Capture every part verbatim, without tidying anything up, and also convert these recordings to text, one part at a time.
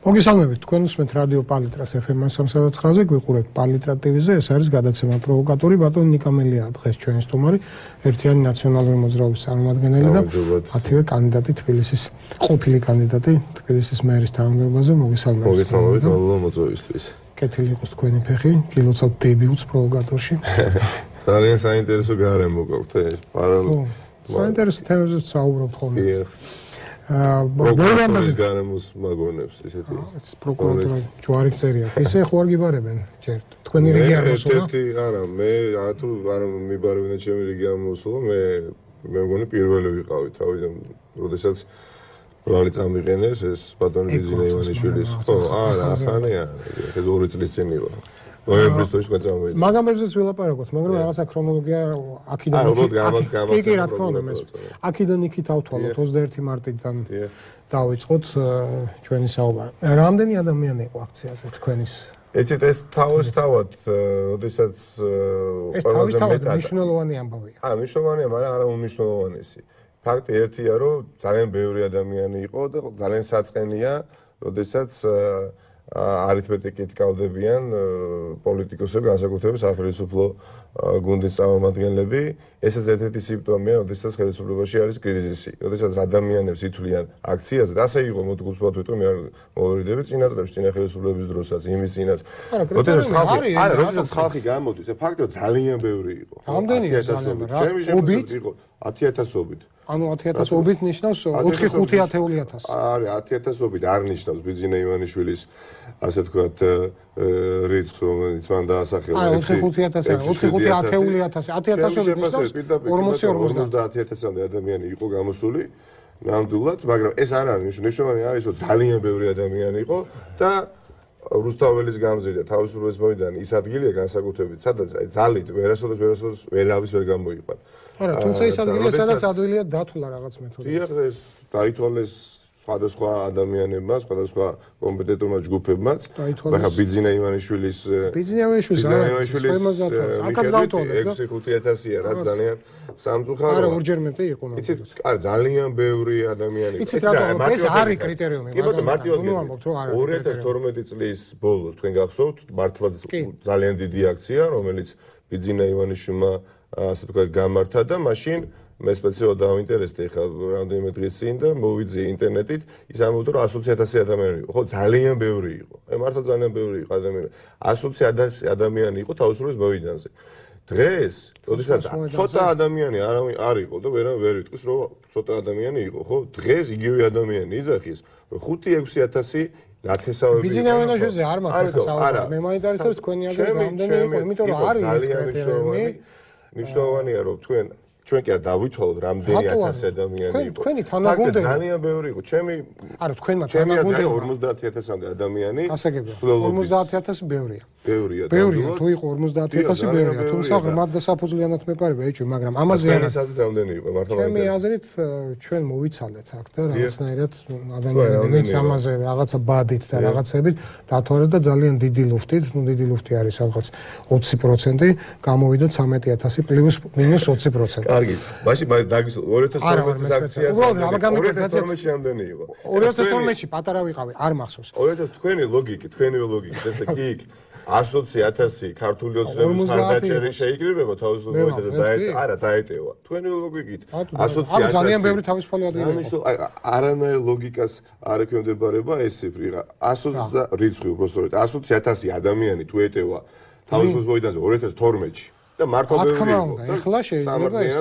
მოგესალმებით, თქვენ უსმენთ რადიო პალიტრას ეფ ემ სამოცდაათი ზე, გვიყურებთ პალიტრა ტივიზე, ეს არის გადაცემა პროვოკატორი, ბატონი ნიკა მელია დღეს ჩვენი სტუმარი, ერთიანი ნაციონალური მოძრაობის წარმომადგენელი და ათივე კანდიდატი თბილისის, ყოფილი კანდიდატი თბილისის მერის თანამდებობაზე, მოგესალმებით. მოგესალმებით, მადლობა მოწვევისთვის. კეთილი იყოს თქვენი ფეხი, გილოცავთ დებიუტს პროვოკატორში. ძალიან საინტერესო გარემო გვაქვს ეს პარალ. საინტერესო თემებზეც საუბრობთ ხოლმე. პროკურორის გარემოს მაგონებს ესეთი. პროკურატურა ჯვარი წერია. ისე ხო არ გიბარებენ ჯერ. თქვენი რიგი არ მოსულა? ერთ-ერთი არა, მე არათუ არ მიბარებინა ჩემი რიგი არ მოსულა, მე მე მგონი პირველი ვიყავი თავიდან, როდესაც ბრალი წამიყენეს ეს ბატონი ბიზინა ივანიშვილის. ხო, არა, ახანია, ეს ორი წლის წინ იყო. ნოემბრის თვეში გვეწამოვიდა. მაგამებზეც ვილაპარაკოთ, მაგრამ რაღაცა ქრონოლოგია აქიდან იქით. კი, კი, რა თქმა უნდა, მე. აქიდან იქით ავთვალოთ ოცდაერთი მარტიდან დავიწყოთ ჩვენი საუბარი. რამდენი ადამიანი იყო აქციაზე თქვენის? ეცეთ ეს თავისთავად, როდესაც ეს თავისთავად მნიშვნელოვანი ამბავია. აა, მნიშვნელოვანია, მაგრამ არა უმნიშვნელოვანესი. ფაქტი ერთია, რომ ძალიან ბევრი ადამიანი იყო და ძალიან საწყენია, როდესაც არითმეტიკით გავდებიან პოლიტიკოსები, განსაკუთრებით სახელმწიფო გუნდის წარმომადგენლები. ესაც ერთ-ერთი სიმპტომია, როდესაც ხელისუფლებაში არის კრიზისი. როდესაც ადამიანებს ითვლიან აქციაზე, და ასე იყო მოდი გულწრფელად ვიტყვი, მე არ მოვერიდები წინა წლებში, წინა ხელისუფლების დროსაც, იმის წინაც. როდესაც ხალხი, არა, როდესაც ხალხი გამოდის, ეს ფაქტია ძალიან ბევრი იყო. რამდენია ძალიან? ჩემი შემოწმებით იყო ათი ათასობით. ანუ ათი ათასობით ნიშნავს ოთხი ხუთი ათეული ათასი. არის ათი ათასობით არ ნიშნავს ბიძინა ივანიშვილის ასე თქვათ რიცხვს, რომელიც მან დაასახელა. არა, ოთხი ხუთი ათასი, ოთხი ხუთი ათეული ათასი, ათი ათასობით ნიშნავს ორმოცი ორმოცდაათი ათასამდე ადამიანი იყო გამოსული. ნამდვილად, მაგრამ ეს არ არის მნიშვნელოვანი, არის რომ ძალიან ბევრი ადამიანი იყო და რუსთაველის გამზირდა თავისუფლების მოედანი ის ადგილია განსაკუთრებით, სადაც ძალით ვერასოდეს ვერასოდეს ვერავის ვერ გამოიყვან. არა, თუმცა ის ადგილია, სადაც ადვილია დათვლა რაღაც მეთოდით. დიახ, ეს დაითვალეს სხვადასხვა ადამიანებმა, სხვადასხვა კომპეტენტურმა ჯგუფებმაც. ახლა ბიძინა ივანიშვილის ბიძინა ივანიშვილის აქაც დაითვალეს ექვსი ხუთი ათასია, რაც ძალიან სამწუხაროა. არა, ორჯერ მეტი იყო მაგალითად. იცით, არა, ძალიან ბევრი ადამიანი იყო. იცით რა, ეს არის კრიტერიუმი, მაგრამ ორი ათას თორმეტი წლის ბოლოს თქვენ გახსოვთ, მართლაც ძალიან დიდი აქცია, რომელიც ბიძინა ივანიშვილმა ასე თქვა გამართა და მაშინ მე სპეციალურად დავინტერესდი ხა რამდენიმე დღის წინ და მოვიძიე ინტერნეტით ის ამბობდა რომ ათი ათასი ადამიანი იყო ხო ძალიან ბევრი იყო მე მართლა ძალიან ბევრი იყო ადამიანი ათი ათასი ადამიანი იყო თავისუფლების მოედანზე დღეს ოდესაც ცოტა ადამიანი არ არ იყო და ვერა ვერ ვიტყვის რომ ცოტა ადამიანი იყო ხო დღეს იგივე ადამიანი იძახის რომ ხუთი ექვსი ათასი ნათესავები ბიძინა ივანიშვილზე არ მაქვს საუბარი მე მაინტერესებს თქვენი ადამიანი რამდენი იყო იმიტომ რომ არის ეს კრიტერიუმი მნიშვნელოვანია რომ თქვენ ჩვენ კი არ დავითვალოთ რამდენი ათასი ადამიანი იყო. თქვენი თანაგუნდები ძალიან ბევრი იყო. ჩემი არა, თქვენმა თანაგუნდები ორმოცდაათი ათასამდე ადამიანი. ორმოცდაათი ათასი ბევრია. ბევრია. ბევრია, თუ იყო ორმოცდაათი ათასი ბევრია. თუმცა ღრმად და საფუძვლიანად მეპარება ეჭვი, მაგრამ ამაზე არ არის აზრი რამდენი იყო მართლა. ჩემი აზრით ჩვენ მოვიცალეთ აქ და რაღაცნაირად ადამიანები ამაზე რაღაცა ბადით და რაღაცებით დათვალეს და ძალიან დიდი ლუფტით, ნუ დიდი ლუფტი არის რაღაც ოცი პროცენტი, გამოვიდა ცამეტი ათასი პლუს მინუს ოცი პროცენტი. კარგი, მაშინ დაგისვა ორი ათას თორმეტის აქციას ორი ათას თორმეტში რამდენი იყო? ორი ათას თორმეტში პატარა ვიყავი, არ მახსოვს. ორი ათას თქვენი ლოგიკი, თქვენი ლოგიკით, ესე კი იქ ათი ათასი ქართული ოცნების ხარდაჭერი შეიკრიბება თავისუფლად და არა დაეტევა. თქვენი ლოგიკით ათი ათასი ძალიან ბევრი თავისუფალი ადამიანი იყო. არანაირ ლოგიკას არ ექვემდებარება ეს ციფრი. ათი რიცხვი უბრალოდ ათი ათასი ადამიანი თუ ეტევა თავისუფლების მოედანზე ორი ათას თორმეტში და მართლა ბევრი იყო. ეხლა შეიძლება ეს.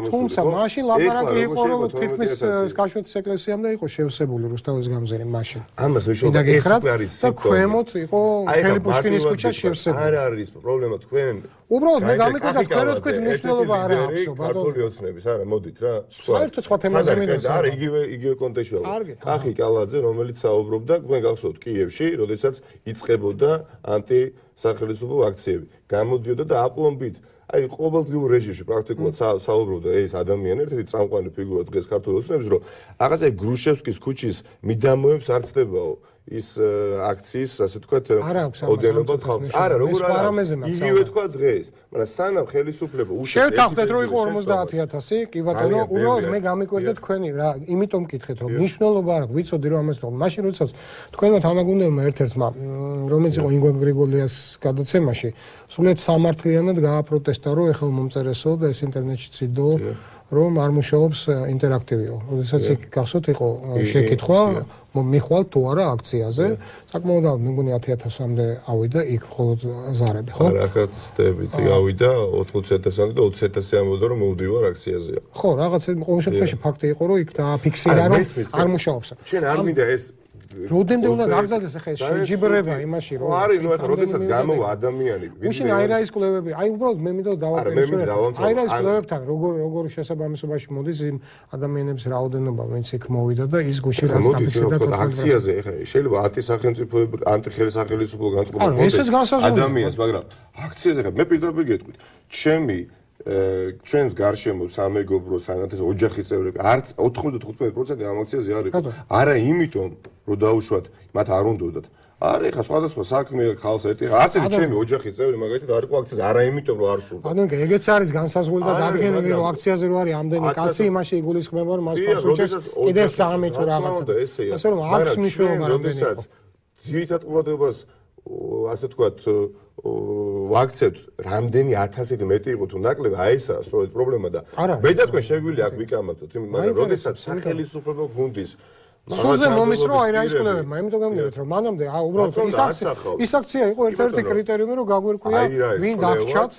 თუმცა მაშინ ლაპარაკი იყო რომ თითქმის კაშოთის ეკლესიამდე იყო შევსებული რუსთაველის გამზირი მაშინ. ამას ვიშოვდა ეს არის და ქვემოთ იყო მთელი პუშკინის ქუჩა შევსებული. არ არის პრობლემა თქვენ უბრალოდ მე გამიკვირდა თქვენ რო თქვენ მნიშვნელობა არ აქვს ბატონო. ქართული ოცნების არა მოდით რა. საერთოდ სხვა თემაზე მინდა. არა იგივე იგივე კონტექსტში ვარ. ახი კალაძე რომელიც საუბრობდა თქვენ გახსოვთ კიევში როდესაც იწყებოდა ანტი სახელმწიფო აქციები. გამოდიოდა და აპლომბით აი ყოველდღიურ რეჟიმში პრაქტიკულად საუბრობდა ეს ადამიანი ერთ-ერთი წამყვანი ფიგურა დღეს ქართულ ოცნებს რომ რაღაცა გრუშევსკის ქუჩის მიდამოებს არ ცდებაო ის აქციის, ასე ვთქვათ, ოდენობა ხალხს. არა, როგორ არა. იგივე თქვა დღეს, მაგრამ სანამ ხელისუფლება უშეშ შევთანხმდეთ რომ იყო ორმოცდაათი ათასი, კი ბატონო, უბრალოდ მე გამიკვირდა თქვენი რა, იმიტომ მკითხეთ რომ მნიშვნელობა არ აქვს, ვიცოდი რომ ამას თქო. მაშინ როდესაც თქვენმა თანაგუნდებმა ერთ-ერთმა, რომელიც იყო ინგვა გრიგოლიას გადაცემაში, სულეთ სამართლიანად გააპროტესტა, რომ ეხლა მომწერესო და ეს ინტერნეტში ციდო, რომ არ მუშაობს ინტერაქტივიო. როდესაც იქ გახსოვთ იყო შეკითხვა, მიხვალ თუ არა აქციაზე, საკმაოდ მე მგონი ათი ათასამდე ავიდა იქ მხოლოდ ზარები, ხო? არა, აქციებით ავიდა ოთხმოცდაათი ათასამდე და ოცდაათი ათასი ამბობდა რომ მოვდივარ აქციაზე. ხო, რაღაც ყოველ შემთხვევაში ფაქტი იყო, რომ იქ დააფიქსირა, რომ არ მუშაობს. ჩვენ არ მინდა ეს როდემდე უნდა გაგზავნეს ახლა ეს შეჯიბრება იმაში რომ არის ნუ ახლა როდესაც გამოვა ადამიანი უშინ აირაის კვლევები აი უბრალოდ მე მინდა დავაპერიფერე აირაის კვლევებთან როგორ როგორ შესაბამისობაში მოდის იმ ადამიანების რაოდენობა ვინც იქ მოვიდა და ის გუში რაც დაფიქსირდა აქციაზე ახლა შეიძლება ათი სახელმწიფოები ანტიხელისუფლო განწყობა ადამიანს მაგრამ აქციაზე ახლა მე პირდაპირ გეტყვით ჩემი ჩვენს გარშემო სამეგობრო სანათეს ოჯახის წევრები არც ოთხმოცდათხუთმეტი პროცენტი ამ აქციაზე არ იყო. არა იმიტომ რომ დაუშვათ მათ არ უნდათ. არა ხა სხვადასხვა საქმე ხალხს ერთი არც ერთი ჩემი ოჯახის წევრი მაგალითად არ იყო აქციაზე არა იმიტომ რომ არ სურდა. ანუ ეგეც არის განსაზღვრული და დადგენილი რომ აქციაზე რო არის ამდენი კაცი იმაში იგულისხმება რომ მას ფასუჩეს კიდევ სამი თუ რაღაცა. ასე რომ აქვს მნიშვნელობა რამდენი იყო. ძირითად ყურადღებას ასე ვთქვათ ვაქცევთ რამდენი ათასით მეტი იყო თუ ნაკლები აი ესაა სწორედ პრობლემა და მე და თქვენ შეგვიძლია აქ ვიკამათოთ მაგრამ როდესაც სახელმწიფო გუნდის სულზე მომისრო აი რა ის კვლევებმა იმიტომ გამიგეთ რომ მანამდე აა უბრალოდ ის აქცია ის აქცია იყო ერთ-ერთი კრიტერიუმი რომ გაგვირკვია ვინ დაგჭათ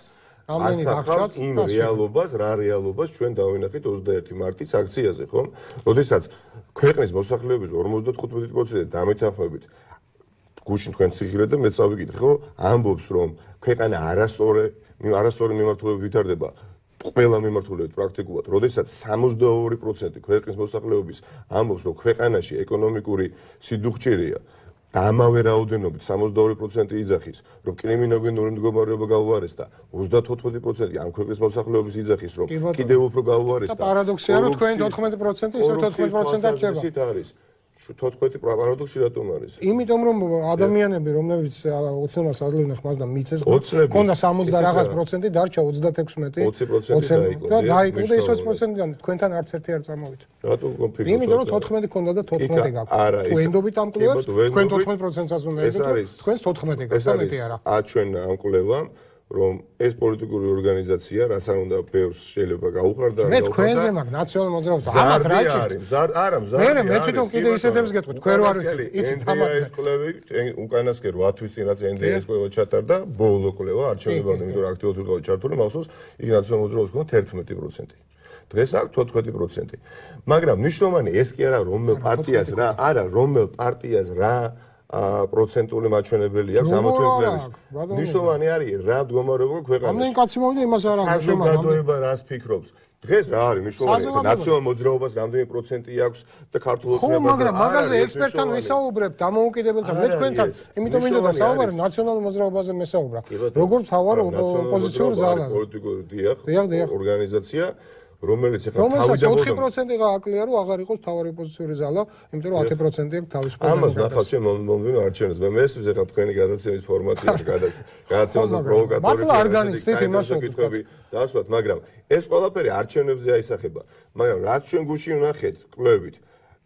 რამდენი დაგჭათ იმ რეალობას რა რეალობას ჩვენ დავინახეთ ოცდაერთი მარტის აქციაზე ხომ როდესაც ქვეყნის მოსახლეობის ორმოცდათხუთმეტი პროცენტი დამეთანხმებით გუშინ თქვენ ციხილე და მე წავიკითხე ხო ამბობს რომ ქვეყანა არასწორი არასწორი მიმართულებით ვითარდება ყველა მიმართულებით პრაქტიკულად როდესაც სამოცდაორი პროცენტი ქვეყნის მოსახლეობის ამბობს რომ ქვეყანაში ეკონომიკური სიდუხჭირია და ამავე რაოდენობით სამოცდაორი პროცენტი იძახის რომ კრიმინოგენური მდგომარეობა გაუარესდა ოცდათოთხმეტი პროცენტი ამ ქვეყნის მოსახლეობის იძახის რომ კიდევ უფრო გაუარესდა და პარადოქსია რომ თქვენ ოთხმეტი პროცენტი ისე ოთხმეტი პროცენტად რჩება თოთხმეტი პარადოქსი რატომ არის? იმიტომ რომ ადამიანები რომლებიც ოცნებას აძლევდნენ ხმას და მიწეს ქონდა სამოცდა და რაღაც პროცენტი დარჩა ოცდათექვსმეტი ოცი პროცენტი დაიკლო და დაიკლო და ის ოცი პროცენტიდან თქვენთან არც ერთი არ წამოვით. რატომ კონფლიქტი? იმიტომ რომ თოთხმეტი ქონდა და თოთხმეტი გაქვს. თუ ენდობით ამ კვლევებს თქვენ თოთხმეტი პროცენტსაც უნდა ედოთ, თქვენს თოთხმეტი გაქვს და მეტი არა. ა ჩვენ ამ კვლევამ რომ ეს პოლიტიკური ორგანიზაცია რას არ უნდა ბევრს შეიძლება გაუხარდა მე თქვენზე მაგ ნაციონალურ მოძრაობას ამათ რა ჭირთ არა მზარდი მე მე თვითონ კიდე ისეთებს გეტყვი თქვენ რო არ ვიცით იცით ამათზე ეს კვლევი უკანასკნელ ორი თვის წინ რაც ენ დი ეს კვლევა ჩატარდა ბოლო კვლევა არჩევნებამდე იმიტომ რომ აქტიურად ვიყავი ჩართული მახსოვს იქ ნაციონალურ მოძრაობას ქონდა თერთმეტი პროცენტი დღეს აქვს თოთხმეტი პროცენტი მაგრამ მნიშვნელოვანი ეს კი არა რომელ პარტიას რა არა რომელ პარტიას რა პროცენტული მაჩვენებელი აქვს ამოთვენების. ნიშნავენ არის რა მდგომარეობა ქვეყანაში. ამდენი კაცი მოვიდა იმას არ აქვს შემო. საზოგადოება რას ფიქრობს? დღეს რა არის ნიშნავენ ნაციონალურ მოძრაობას რამდენი პროცენტი აქვს და ქართულ ოცნებას. ხო, მაგრამ მაგაზე ექსპერტთან ვისაუბრებ დამოუკიდებელთან მე თქვენთან. იმიტომ მინდა დასაუბარი ნაციონალურ მოძრაობაზე მესაუბრა. როგორც თავარ ოპოზიციურ ძალაზე. პოლიტიკური დიახ ორგანიზაცია რომელიც ახლა თავიდან ოთხი პროცენტი გააკლია რომ აღარ იყოს თავარი ოპოზიციური ზალა, იმიტომ რომ ათი პროცენტი აქვს თავის პოლიტიკას. ამას ნახავთ ჩვენ მომდევნო არჩევნებს. მე მესმის ახლა თქვენი გადაცემის ფორმატია გადაცემაზე პროვოკატორი. მართლა არ განიცდით იმას საკითხები დასვათ, მაგრამ ეს ყველაფერი არჩევნებზე აისახება. მაგრამ რაც ჩვენ გუში ვნახეთ კვლევით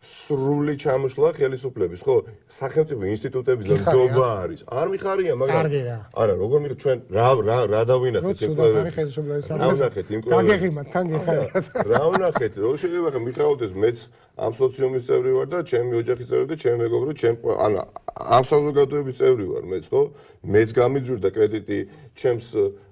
სრული ჩამოშლა ხელისუფლების, ხო? სახელმწიფო ინსტიტუტების ნდობა არის. არ მიხარია, მაგრამ არა, როგორ მიხარ ჩვენ რა რა რა დავინახეთ იმ კვლევებში. რა ვნახეთ იმ კვლევებში? გაგეღიმათ, თან გეხარიათ. რა ვნახეთ? რო შეიძლება ხა მიხაოდეს მეც ამ სოციუმის წევრი ვარ და ჩემი ოჯახის წევრი და ჩემი მეგობრო, ჩემ ან ამ საზოგადოების წევრი ვარ მეც, ხო? მეც გამიძურდა კრედიტი ჩემს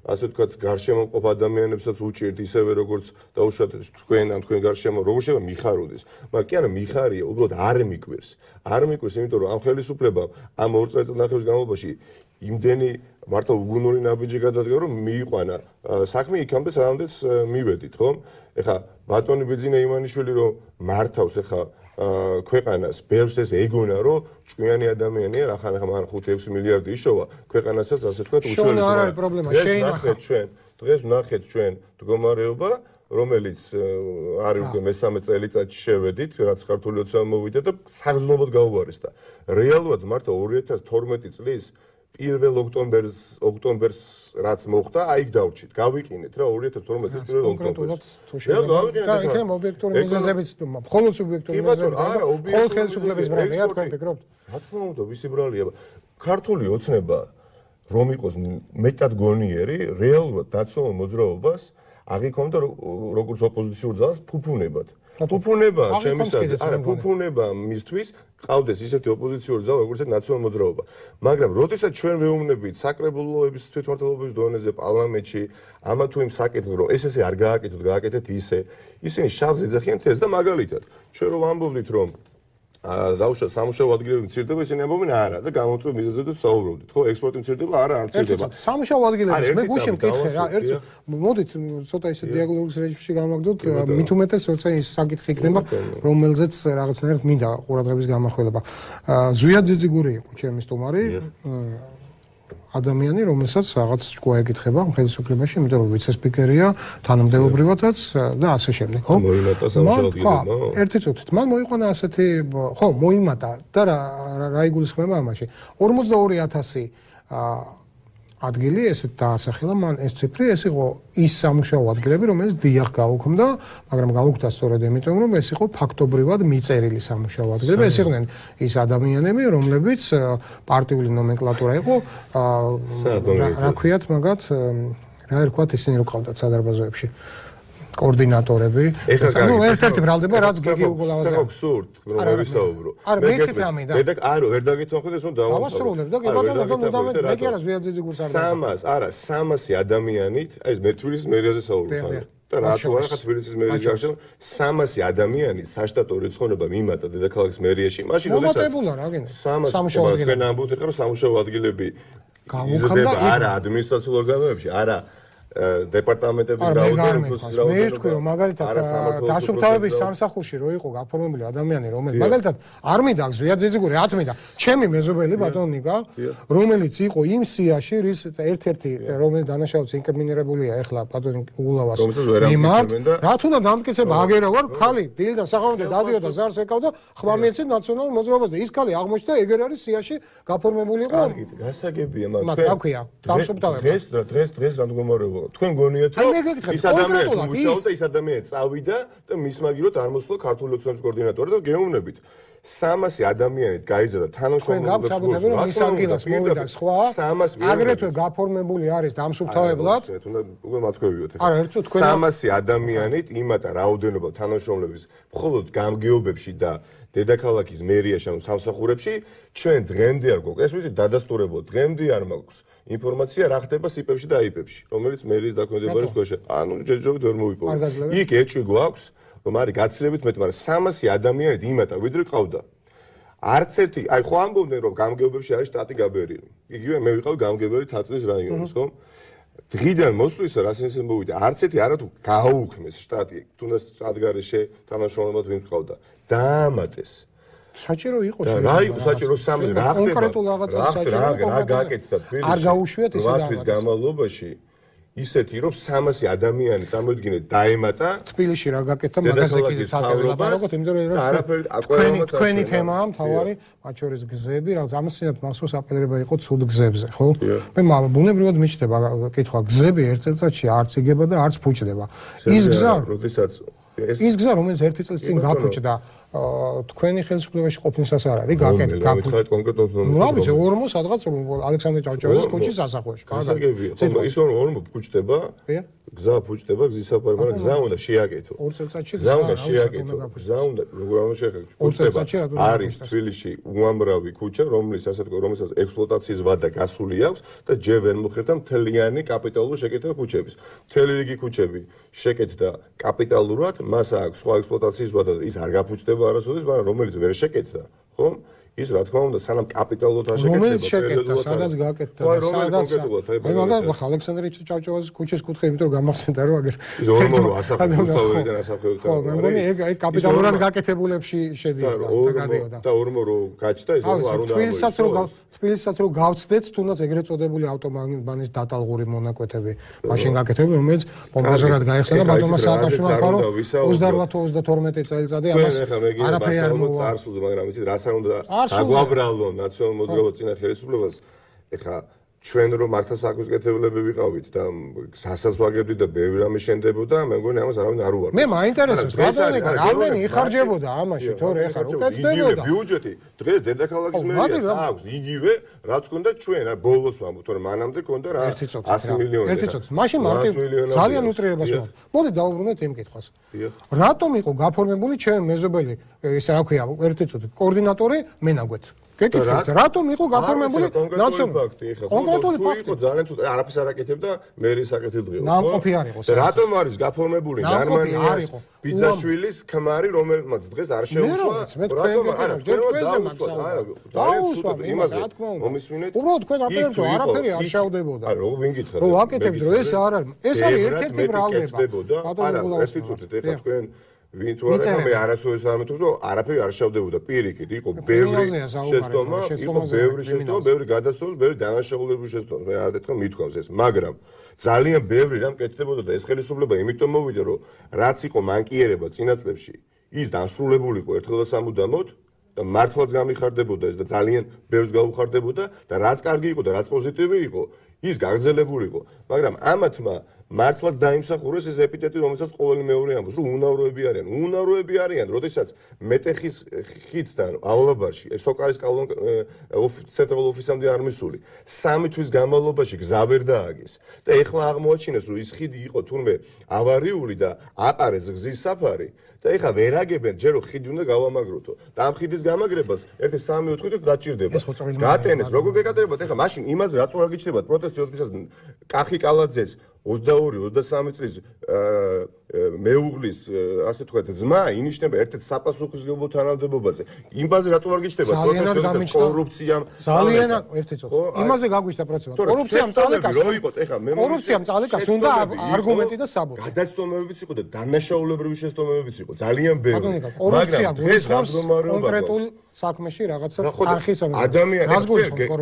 ასე ვთქვათ გარშემო მყოფ ადამიანებსაც უჭირთ ისევე როგორც დაუშვათ თქვენ ან თქვენ გარშემო როგორ შეიძლება მიხაროდეს მაგრამ კი არა მიხარია უბრალოდ არ მიკვირს არ მიკვირს იმიტომ რომ ამ ხელისუფლებამ ამ ორ წელიწადს განმავლობაში იმდენი მართლა უგუნური ნაბიჯი გადადგა რომ მიიყვანა საქმე იქამდე სამდეც მივედით ხო ეხა ბატონი ბიძინა იმანიშვილი რომ მართავს ეხა ქვეყანას ბევრს ეს ეგონა რომ ჭკვიანი ადამიანია რა ხან ხან ხუთი ექვსი მილიარდი იშოვა ქვეყანასაც ასე თქვა უშუალოდ შენ არ არის პრობლემა შენ ნახეთ ჩვენ დღეს ნახეთ ჩვენ მდგომარეობა რომელიც არის უკვე მესამე წელიწადში შევედით, რაც ქართული ოცნება მოვიდა და საგრძნობოდ გაუარეს და რეალურად მართლა ორი ათას თორმეტი წლის პირველ ოქტომბერს ოქტომბერს რაც მოხდა, აი იქ დავრჩით. გავიკინეთ რა ორი ათას თორმეტი წლის პირველ ოქტომბერს. რეალურად გავიკინეთ და იქნებ ობიექტური მიზეზებიც, მხოლოდ სუბიექტური მიზეზები. არა, მხოლოდ ხელისუფლების ბრალია, თქვენ ფიქრობთ? რა თქმა უნდა, ვისი ბრალია? ქართული ოცნება რომ იყოს მეტად გონიერი, რეალურად ნაციონალურ მოძრაობას აღიქონდა როგორც ოპოზიციურ ძალას ფუფუნებად. ფუფუნება ჩემისადმი, არა, ფუფუნება მისთვის ყავდეს ისეთი ოპოზიციური ძალა, როგორც ნაციონალურ მოძრაობა. მაგრამ როდესაც ჩვენ ვეუბნებით საკრებულოების თვითმმართველობის დონეზე პარლამენტში, ამა თუ იმ საკითხს, რომ ეს ესე არ გააკეთოთ, გააკეთეთ ისე, ისინი შავს ეძახიან თეს და მაგალითად, ჩვენ რომ ამბობდით, რომ დაუშვათ სამუშაო ადგილები მცირდება, ისინი ამბობენ არა და გამოწვევ მიზეზებზე ვსაუბრობდით. ხო, ექსპორტი მცირდება, არა, არ მცირდება. სამუშაო ადგილები, მე გუშინ მკითხე რა, ერთ მოდით ცოტა ისე დიალოგის რეჟიმში გამაგდოთ, მით უმეტეს როცა ის საკითხი იქნება, რომელზეც რაღაცნაირად მინდა ყურადღების გამახვილება. ზვიად ძიძიგური იყო ჩემი სტუმარი. ადამიანი, რომელსაც რაღაც ჭკუა ეკითხება ხელისუფლებაში, იმიტომ რომ ვიცე-სპიკერია, თანამდებობრივადაც და ასე შემდეგ, ხო? მოიმატა სამუშაო ადგილებმა. ერთი წუთით, მან მოიყვანა ასეთი, ხო, მოიმატა და რა რა იგულისხმება ამაში? ორმოცდაორი ათასი ადგილი ესეთ დაასახელა მან ეს ციფრი, ეს იყო ის სამუშაო ადგილები, რომელიც დიახ გაუქმდა, მაგრამ გაუქმდა სწორედ იმიტომ, რომ ეს იყო ფაქტობრივად მიწერილი სამუშაო ადგილები, ეს იყვნენ ის ადამიანები, რომლებიც პარტიული ნომენკლატურა იყო, რა ქვიათ მაგათ, რა ერქვათ ისინი რო ყავდათ სადარბაზოებში. კოორდინატორები. ანუ ერთ-ერთი ბრალდება, რაც გიგი უგულავაზე. ხო, აბსურდ, რომ ვერ ვისაუბრო. არა, მეცით რამე და. მე და არა, ვერ დაგეთვალყდეს, რომ დავამთავრე. დავასრულებ და კი ბატონო, ბატონო, მე კი არა ზვიადძიძი გულს არ სამას, არა, სამასი ადამიანით, აი ეს მე თბილისის მერიაზე საუბრობ. და რატო არა ხა თბილისის მერიის გარშემო სამასი ადამიანი საშტატო რიცხონება მიმატა დედაქალაქის მერიაში. მაშინ როდესაც მომატებულა რა გინდა? სამუშაო ადგილები. თქვენ ამბობთ ხა რომ სამუშაო ადგილები იზრდება არა ადმინისტრაციულ ორგანოებში, არა დეპარტამენტების რაოდენობის რაოდენობა. მე ვთქვი რომ მაგალითად დასუფთავების სამსახურში რო იყო გაფორმებული ადამიანი, რომელიც მაგალითად არ მინდა ზვიადძიძიგური არ მინდა, ჩემი მეზობელი ბატონო ნიკა, რომელიც იყო იმ სიაში, რის ერთ-ერთი რომელიც დანაშაულს ინკრიმინირებულია ეხლა ბატონი უგულავას მიმართ, რა თუნდა დამტკიცება აგერა ვარ, ხალი დილიდან საღამომდე დადიოდა ზარს ეკავდა, ხმამიეცი ნაციონალურ მოძრაობას და ის ხალი აღმოჩნდა ეგერ არის სიაში გაფორმებული იყო. კარგი, გასაგებია მაგრამ რა ქვია, დამსუფთავება. დღეს დღეს დღეს რადგომარეობა თქვენ გონიათ რომ ის ადამიანი მუშაობდა ის ადამიანი წავიდა და მის მაგილოთ არ მოსულა ქართული ოცნების კოორდინატორი და გეუბნებით სამასი ადამიანით გაიზარდა თანამშრომლობის გულს რა ის ადგილას მოვიდა სხვა აგრეთვე გაფორმებული არის დამსუფთავებლად თუნდაც უკვე მათქვევიოთ არა ერთო თქვენ სამასი ადამიანით იმატა რაოდენობა თანამშრომლების მხოლოდ გამგეობებში და დედაქალაქის მერიაში ანუ სამსახურებში ჩვენ დღემდე არ გვაქვს ეს ვიცი დადასტურებო დღემდე არ მაქვს ინფორმაცია რა ხდება სიპებში და აიპებში რომელიც მერის დაქვემდებარების ქვეშ ანუ ჯერჯერობით ვერ მოვიპოვე იქ ეჭვი გვაქვს რომ არის გაცილებით მეტი მაგრამ სამასი ადამიანით იმატა ვიდრე ყავდა არც ერთი აი ხო ამბობდნენ რომ გამგეობებში არის შტატი გაბერილი იგივე მე ვიყავი გამგებელი თათბის რაიონის ხო დღიდან მოსვლისა რა სენსე მოვიდა არც ერთი არათუ გააუქმეს შტატი თუნდაც ადგარეშე თანამშრომლობად ვინც ყავდა დაამატეს საჭირო იყო შეიძლება რა იყო საჭირო სამი რა ხდება კონკრეტულ რაღაცას საჭირო რა გააკეთდა თბილისში არ გაუშვიათ ეს რაღაც თვის განმავლობაში ისეთი რომ სამასი ადამიანი წარმოიდგინეთ დაემატა თბილისში რა გააკეთა მაგაზე კიდეც აკეთებდა იმიტომ რომ არაფერი თქვენი თქვენი თემაა მთავარი მათ შორის გზები რაღაც ამასინათ მახსოვს აპელირება იყო ცუდ გზებზე ხო მე ბუნებრივად მიჩნდება კითხვა გზები ერთ წელიწადში არც იგება და არც ფუჭდება ის გზა როდესაც ის გზა რომელიც ერთი წლის წინ გაფუჭდა თქვენი ხელისუფლებაში ყოფნისას არ არის გაკეთდა გაკეთდა კონკრეტულად ნუ რა ვიცი ორმო სადღაც ალექსანდრე ჭავჭავაძის კოჩის ასახვეში კარგია ის რომ ორმო ფუჭდება გზა ფუჭდება გზის საფარი მაგრამ გზა უნდა შეაკეთო ორ წელიწადში გზა უნდა შეაკეთო გზა უნდა როგორ უნდა შეაკეთო ფუჭდება არის თბილისში უამრავი ქუჩა რომლის ასე თქვა რომელსაც ექსპლუატაციის ვადა გასული აქვს და ჯერ ვერ მოხერხდა მთლიანი კაპიტალური შეკეთება ქუჩების მთელი რიგი ქუჩები შეკეთდა კაპიტალურად მას აქვს სხვა ექსპლუატაციის ვადა და ის არ გაფუჭდება არასოდეს, მაგრამ რომელიც ვერ შეკეთდა, ხო? ის რა თქმა უნდა სანამ კაპიტალურად არ შეკეთება, სადაც გაკეთდა, სადაც აი მაგალითად ხა ალექსანდრე ჭავჭავაძის ქუჩის კუთხე, იმიტომ რომ გამახსენდა რომ აგერ ის ორმორო ასახავს რუსთავიდან ასახავს. ხო, მე მგონი ეგ აი კაპიტალურად გაკეთებულებში შედიოდა და გადიოდა. და ორმორო გაჩნდა ის რომ არ უნდა თბილისსაც რომ თბილისსაც რომ გავცდეთ, თუნდაც ეგრეთ წოდებული ავტომობილის დატალღური მონაკვეთები მაშინ გაკეთებული, რომელიც პომპოზურად გაიხსნა ბატონმა სააკაშვილმა ფარო ოცდაოთხ თუ ოცდათორმეტი წელიწადი ამას არაფერი არ მოვა. წარსულზე, მაგრამ იცით რას არ უნდა აგვაბრალო ნაციონალურ მოძრაობას წინა ხელისუფლებას. ეხა ჩვენ რომ მართლა საქმესკეთებლები ვიყავით და სასაც ვაგებდით და ბევრი რამე შენდებოდა, მე მგონი ამას არავინ არ უარყოფს. მე მაინტერესებს, ბატონო, რამდენი იხარჯებოდა ამაში, თორე ეხა რო კეთდებოდა. ბიუჯეტი დღეს დედაქალაქის მერიას აქვს იგივე, რაც ქონდა ჩვენ, რა ბოლოს ვამბობ, თორე მანამდე ქონდა რა ასი მილიონი. ერთი წუთი. მაშინ მარტივ ძალიან უტრიებას მოხდა. მოდი დავუბრუნდეთ იმ კითხვას. რატომ იყო გაფორმებული ჩვენ მეზობელი, ესე რა ქვია, ერთი წუთი, კოორდინატორი მენაგვეთ? გეკითხეთ, რატომ იყო გაფორმებული ნაციონალური კონკრეტული ფაქტი? იყო ძალიან ცუდი, არაფერს არ აკეთებდა მერის საკეთილდღეო. ნამყოფი არ იყო. რატომ არის გაფორმებული გერმანიის ბიძაშვილის ქმარი, რომელმაც დღეს არ შეუშვა? რატომ არა? ჯერ თქვენზე მაგსაუბრა. დაუსვა იმაზე. მომისმინეთ. უბრალოდ თქვენ აპერებთ, არაფერი არ შევდებოდა. არა, რო ვინ გითხრა? რო ვაკეთებთ, რომ ეს არ არის. ეს არის ერთ-ერთი ბრალდება. არა, ერთი წუთით, ეხლა თქვენ ვინ თუ არა მე არასოდეს არ მეთქოს რომ არაფერი არ შევდებოდა პირიქით იყო ბევრი შეცდომა იყო ბევრი შეცდომა ბევრი გადასწორება ბევრი დანაშაულებრივი შეცდომა მე არ დეთქო მithქვავს ეს მაგრამ ძალიან ბევრი რამ კეთდებოდა და ეს ხელისუფლება იმიტომ მოვიდა რომ რაც იყო მანკიერება წინა წლებში ის დასრულებული იყო ერთხელ და სამუდამოდ და მართლაც გამიხარდებოდა ეს და ძალიან ბევრს გაუხარდებოდა და რაც კარგი იყო და რაც პოზიტივი იყო ის გაგრძელებული იყო მაგრამ ამათმა მართლაც დაიმსახურეს ეს ეპიტეტი, რომელსაც ყოველი მეორე ამბობს, რომ უნავროები არიან. უნავროები არიან, როდესაც მეტეხის ხიდთან ავალაბარში, სოკარის ცენტრალურ ოფისამდე არ მისული. სამი თვის განმავლობაში გზა ვერ დააგეს. და ეხლა აღმოაჩინეს, რომ ის ხიდი იყო თურმე ავარიული და აყარეს გზის საფარი. და ეხლა ვერ აგებენ, ჯერ რომ ხიდი უნდა გავამაგროთო. და ამ ხიდის გამაგრებას ერთი სამი ოთხი დაჭირდება. გატენეს, როგორ გეკატერებათ? ეხლა მაშინ იმაზე რატო არ გიჩნდებათ პროტესტი ოდესას კახი კალაძეს ოცდაორი ოცდასამი წლის მეუღლის ასე თქვა ძმა ინიშნება ერთ-ერთ საპასუხისმგებლო თანამდებობაზე. იმაზე რატო არ გიჩნდება პროტესტი კორუფციამ ძალიან ერთი წუთი. იმაზე გაგვიჩნდა პროცესა. კორუფციამ წალეკას რო იყოთ ეხლა მე კორუფციამ წალეკას უნდა არგუმენტი და საბუთი. გადაცდომებიც იყო და დანაშაულებრივი შეცდომებიც იყო ძალიან ბევრი. კორუფცია გულისხმობს კონკრეტულ საქმეში რაღაცა არხის ამბავი. ადამიანი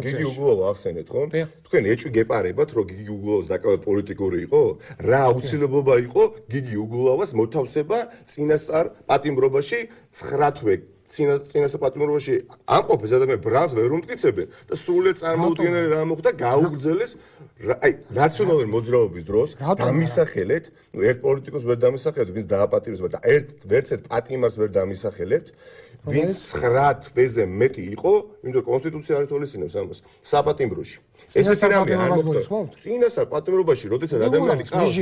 გიგი უგულოვა ახსენეთ ხო? თქვენ ეჭვი გეპარებათ რომ გიგი უგულოვას დაკავება პოლიტიკური იყო? რა აუცილებლობა იყო გიგი უგულოვას მოთავსება წინასწარ პატიმრობაში ცხრა თვე წინასწარ პატიმრობაში ამყოფეს ადამიანები ბრალს ვერ უმტკიცებენ და სრულად წარმოუდგენელი რა მოხდა გაუგრძელეს აი ნაციონალური მოძრაობის დროს დამისახელეთ ნუ ერთ პოლიტიკოს ვერ დამისახელეთ ვინც დააპატიმრეს და ერთ ვერცერთ პატიმარს ვერ დამისახელებთ ვინც ცხრა თვეზე მეტი იყო იმიტომ კონსტიტუცია არ ითვალისწინებს ამას საპატიმროში ეს რამე არ მოხდა წინასწარ პატიმრობაში როდესაც ადამიანი ყავს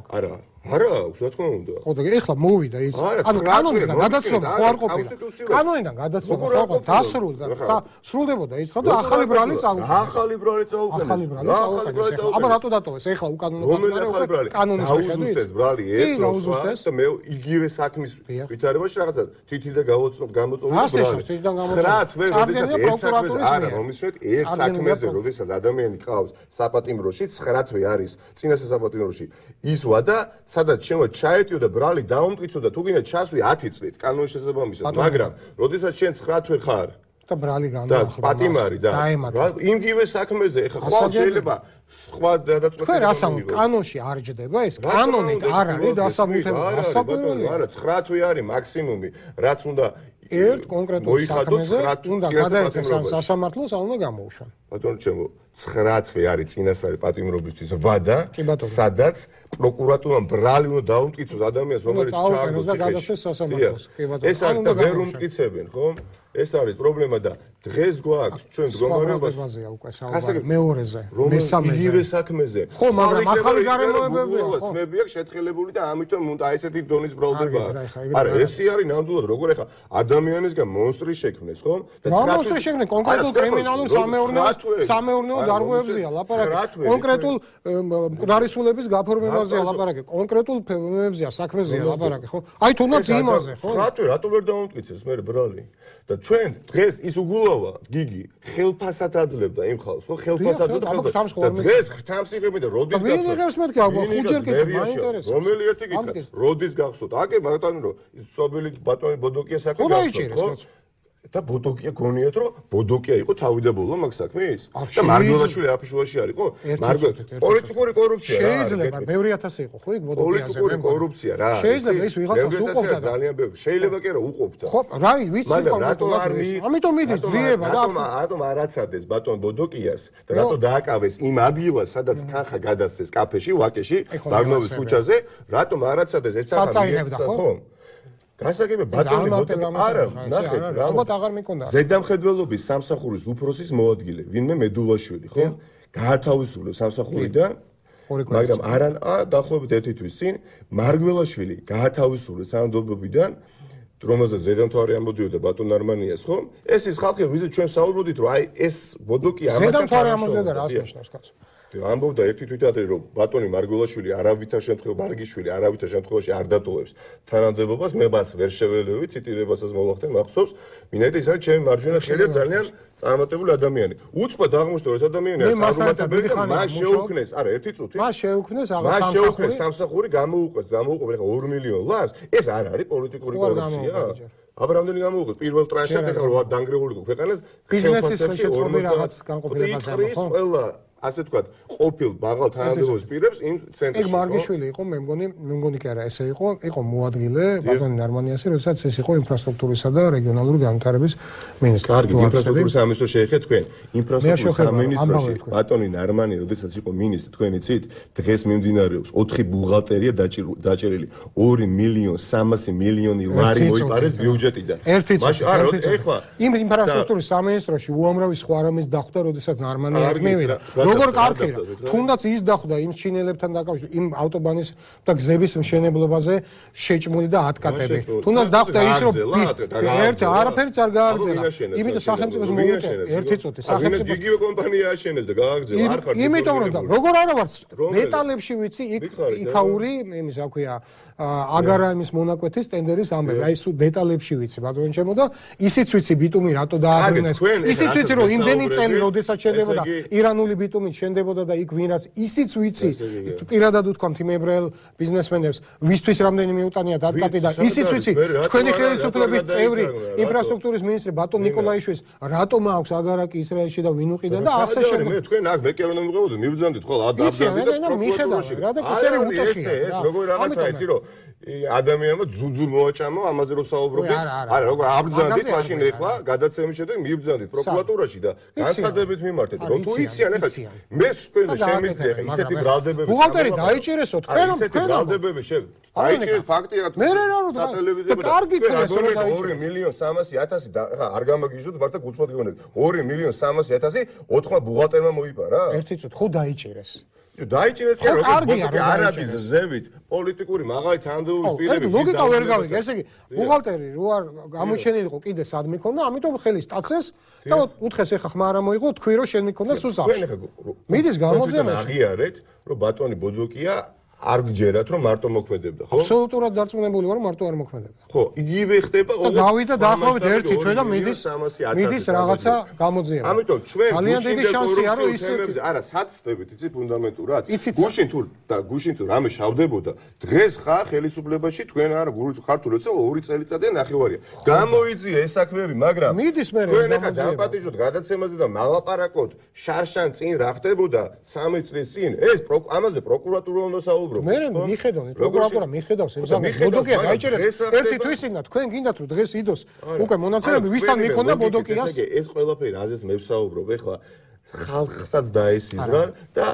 არა არა აქვს რა თქმა უნდა ხო და ეხლა მოვიდა ის ანუ კანონიდან გადაცნობა ხო არ ყოფილა კანონიდან გადაცნობა ხო არ დასრულდა და სრულდებოდა ის ხო და ახალი ბრალი წავუყენეს ახალი ბრალი წავუყენეს ახალი ბრალი წავუყენეს აბა რატო დატოვეს ეხლა უკანონო კანონი კანონის მიხედვით ბრალი ეს და მე იგივე საქმის ვითარებაში რაღაცა თითი და გავოცნობ გამოწვეული ბრალი ცხრა თვე როდესაც ერთ საქმეზე არა მომისმენთ ერთ საქმეზე როდესაც ადამიანი ყავს საპატიმროში ცხრა თვე არის წინასწარ საპატიმროში ის ვადა სადაც შემო ჩაეტიო და ბრალი დაუმტკიცო და თუ გინდა ჩასვი ათი წლით კანონის შესაბამისად მაგრამ როდესაც შენ ცხრა თვე ხარ და ბრალი განაახლა პატიმარი და იმგივე საქმეზე ეხა ხო შეიძლება სხვა დადაწყვეტილება თქვენ რას ამბობთ კანონში არ ჯდება ეს კანონით არ არის დასაბუთებული დასაბუთებული არა ცხრა თვე არის მაქსიმუმი რაც უნდა ერთ კონკრეტულ საქმეზე უნდა გადაეცეს ამ სასამართლოს ან უნდა გამოუშვან ბატონო ჩემო ცხრა თვე არის წინასწარი პატიმრობისთვის ვადა სადაც პროკურატურამ ბრალი უნდა დაუმტკიცოს ადამიანს რომელიც ჩააგდოს და გადასცეს სასამართლოს კი ბატონო ეს არის და ვერ უმტკიცებენ ხო ეს არის პრობლემა და დღეს გვაქვს ჩვენ მდგომარეობაზეა უკვე საუბარი მეორეზე მესამეზე იგივე საქმეზე ხო მაგრამ ახალი გარემოებებია ხო თმები აქვს შეთხელებული და ამიტომ უნდა ესეთი დონის ბრალდება არა ესე არის ნამდვილად როგორ ეხა ადამიანისგან მონსტრი შექმნეს ხო და მონსტრი შექმნეს კონკრეტულ კრიმინალურ სამეურნეო სამეურნეო დარღვევებზეა ლაპარაკი. კონკრეტულ მკვდარისულების გაფორმებაზეა ლაპარაკი. კონკრეტულ ფენომენებზეა, საქმეზეა ლაპარაკი, ხო? აი თუნდაც იმაზე, ხო? ხრათვე რატო ვერ დაუმტკიცეს მე ბრალი? და ჩვენ დღეს ის უგულავა გიგი ხელფასად აძლევდა იმ ხალხს, ხო? ხელფასად და დღეს ხრთამს იღებენ და როდის გახსოვთ? ვინ იღებს მეთქი აბა ხუჯერ კი მაინტერესებს. რომელი ერთი კითხვა? როდის გახსოვთ? აკე ბატონო რომ ის სობელი ბატონი ბოდოკია საქმე გახსოვთ, ხო? და ბოდოკია გონიათ რომ ბოდოკია იყო თავიდაბოლო მაგ საქმის და მარგველაშვილი აფიშუაში არის ხო მარგველ პოლიტიკური კორუფცია რა შეიძლება ბევრი ათასი იყო ხო იქ ბოდოკიაზე პოლიტიკური კორუფცია რა შეიძლება ის ვიღაცას უყოფდა ძალიან ბევრი შეიძლება კი რა უყოფდა ხო რა ვიცი მაგრამ რატო არ მი ამიტომ მიდის ძიება რა რატომ რატომ არ აცადეს ბატონ ბოდოკიას და რატო დააკავეს იმ ადგილას სადაც თანხა გადასცეს კაფეში ვაკეში ბარნოვის ქუჩაზე რატომ არ აცადეს ეს თანხა ხო გასაგებია ბატონი არა ნახეთ რა ალბათ აღარ მეკონდა ზედამხედველობის სამსახურის უფროსის მოადგილე ვინმე მედულაშვილი ხო გაათავისუფლებს სამსახურიდან მაგრამ არან დაახლოებით ერთი თვის წინ მარგველაშვილი გაათავისუფლეს თანამდებობიდან რომელზეც ზედამთვარე ამოდიოდა ბატონ არმანიას ხო ეს ის ხალხი ვიზით ჩვენ საუბრობდით რომ აი ეს ბოდოკი ამათ ზედამთვარე ამოდიოდა რას ნიშნავს კაცო ამბობდა ერთი თვითადრე რომ ბატონი მარგველაშვილი არავითარ შემთხვევაში მარგიშვილი არავითარ შემთხვევაში არ დატოვებს თანამდებობას მე მას ვერ შეველევი ციტირებასაც მოვახდენ მახსოვს ვინაიდან ის არის ჩემი მარჯვენა ხელია ძალიან წარმატებული ადამიანი უცბად აღმოჩნდა ეს ადამიანი წარმატებული და მას შეუქმნეს არა ერთი წუთი მას შეუქმნეს აღარ მას შეუქმნეს სამსახური გამოუყვეს გამოუყვეს ხა ორ მილიონ ლარს ეს არ არის პოლიტიკური კორუფცია აბა რამდენი გამოუყვეს პირველ ტრანშად ხა რა დანგრეული იყო ქვეყანას ბიზნესის ხელშეწყობი რაღაც განყოფილებაზე ხო ასე თქვა ყოფილ მაღალ თანამდებობის პირებს იმ ცენტრში ეგ მარგიშვილი იყო მე მგონი მე მგონი კი არა ესე იყო იყო მოადგილე ბატონი ნარმანიასი როდესაც ეს იყო ინფრასტრუქტურისა და რეგიონალური განვითარების მინისტრი კარგი ინფრასტრუქტურის სამინისტრო შეეხეთ თქვენ ინფრასტრუქტურის სამინისტროში ბატონი ნარმანი როდესაც იყო მინისტრი თქვენი ცით დღეს მიმდინარეობს ოთხი ბუღალტერია დაჭერილი ორი მილიონ სამასი მილიონი ლარი მოიპარეს ბიუჯეტიდან მაშინ არა ეხლა იმ ინფრასტრუქტურის სამინისტროში უამრავი სხვა რამის დახვდა როდესაც ნარმანია მივიდა როგორ კარგი რა თუნდაც ის დახვდა იმ ჩინელებთან დაკავშირებით იმ ავტობანის და გზების მშენებლობაზე შეჭმული და ატკატები თუნდაც დახვდა ის რომ ერთი არაფერიც არ გააგრძელა იმიტომ სახელმწიფოს მოუწევს ერთი წუთი სახელმწიფო იგივე კომპანია აშენებს და გააგრძელა არ ხარ იმიტომ რომ როგორ არა ვარ დეტალებში ვიცი იქაური იმის რა ქვია აგარაიმის მონაკვეთის ტენდერის ამბები აი სულ დეტალებში ვიცი ბატონო ჩემო და ისიც ვიცი ბიტუმი რატო დააბრუნეს ისიც ვიცი რომ იმდენი წელი როდესაც შენდებოდა ირანული ბიტუმით შენდებოდა და იქ ვინაც ისიც ვიცი პირადად უთქვამთ იმ ებრაელ ბიზნესმენებს ვისთვის რამდენი მიუტანია დატკატი და ისიც ვიცი თქვენი ხელისუფლების წევრი ინფრასტრუქტურის მინისტრი ბატონ ნიკოლაიშვილის რატომ აქვს აგარაკი ისრაელში და ვინ უყიდა და ასე შემდეგ მე თქვენ აქ მეკე უნდა მივიღოთ მივბრძანდით ხო ადაბდები და მიხედავ რა და ეს არის უტეხია ეს როგორ რაღაცა იცი რომ ადამიანმა ძუძუ მოაჭამა ამაზე რომ საუბრობთ არა როგორ აბრძანდით მაშინ ეხლა გადაცემის შემდეგ მივბრძანდით პროკურატურაში და განცხადებით მიმართეთ რომ თუ იციან ეხლა მე თქვენზე შემიძლია ეხლა ისეთი ბრალდებები ბუღალტერი დაიჭირესო თქვენ ისეთი ბრალდებები შე აიჭირეს ფაქტია მე რა რა სატელევიზიო და კარგი ქრეს ორი მილიონ სამასი ათასი ხა არ გამაგიჟოთ მართლა გულწრფად გეუბნები ორი მილიონ სამასი ათასი ოთხმა ბუღალტერმა მოიპარა ერთი წუთი ხო დაიჭირეს დაიჭირეს კი როგორ არადის ზევით პოლიტიკური მაღალი თანამდებობის პირები ლოგიკა ვერ გავიგე ესე იგი ბუღალტერი რო არ გამოჩენილიყო კიდე სად მიქონდა ამიტომ ხელი სტაცეს და უთხეს ეხა ხმა არა მოიღო თქვი რომ შენ მიქონდა სუსახში მიდის გამოძიება აღიარეთ რომ ბატონი ბოდოკია არ გჯერათ რომ მარტო მოქმედებდა ხო? აბსოლუტურად დარწმუნებული ვარ რომ მარტო არ მოქმედებდა. ხო, იგივე ხდება და გავიდა დაახლოებით ერთი თვე და მიდის მიდის რაღაცა გამოძიება. ამიტომ ჩვენ ძალიან დიდი შანსია რომ ის არა საცდებით იცი ფუნდამენტურად. გუშინ თუ და გუშინ თუ რამე შავდებოდა დღეს ხარ ხელისუფლებაში თქვენ არა ხართულ ეცე ორი წელიწადია ნახევარია. გამოიძია ეს საქმეები, მაგრამ მიდის მე ეს გამოძიება. დაპატიჟოთ გადაცემაზე და მალაპარაკოთ შარშან წინ რა ხდებოდა სამი წლის წინ ეს ამაზე პროკურატურა უნდა საუბრობდეს. მე მიხედავ პროკურატურა მიხედავს ეს ბოდოკია დაიჭერეს ერთი თვის წინ და თქვენ გინდათ რომ დღეს იდოს უკვე მონაცემები ვისთან მიქონდა ბოდოკიას ეს ყველაფერი რაზეც მე ვსაუბრობ ეხლა ხალხსაც დაესიზრა და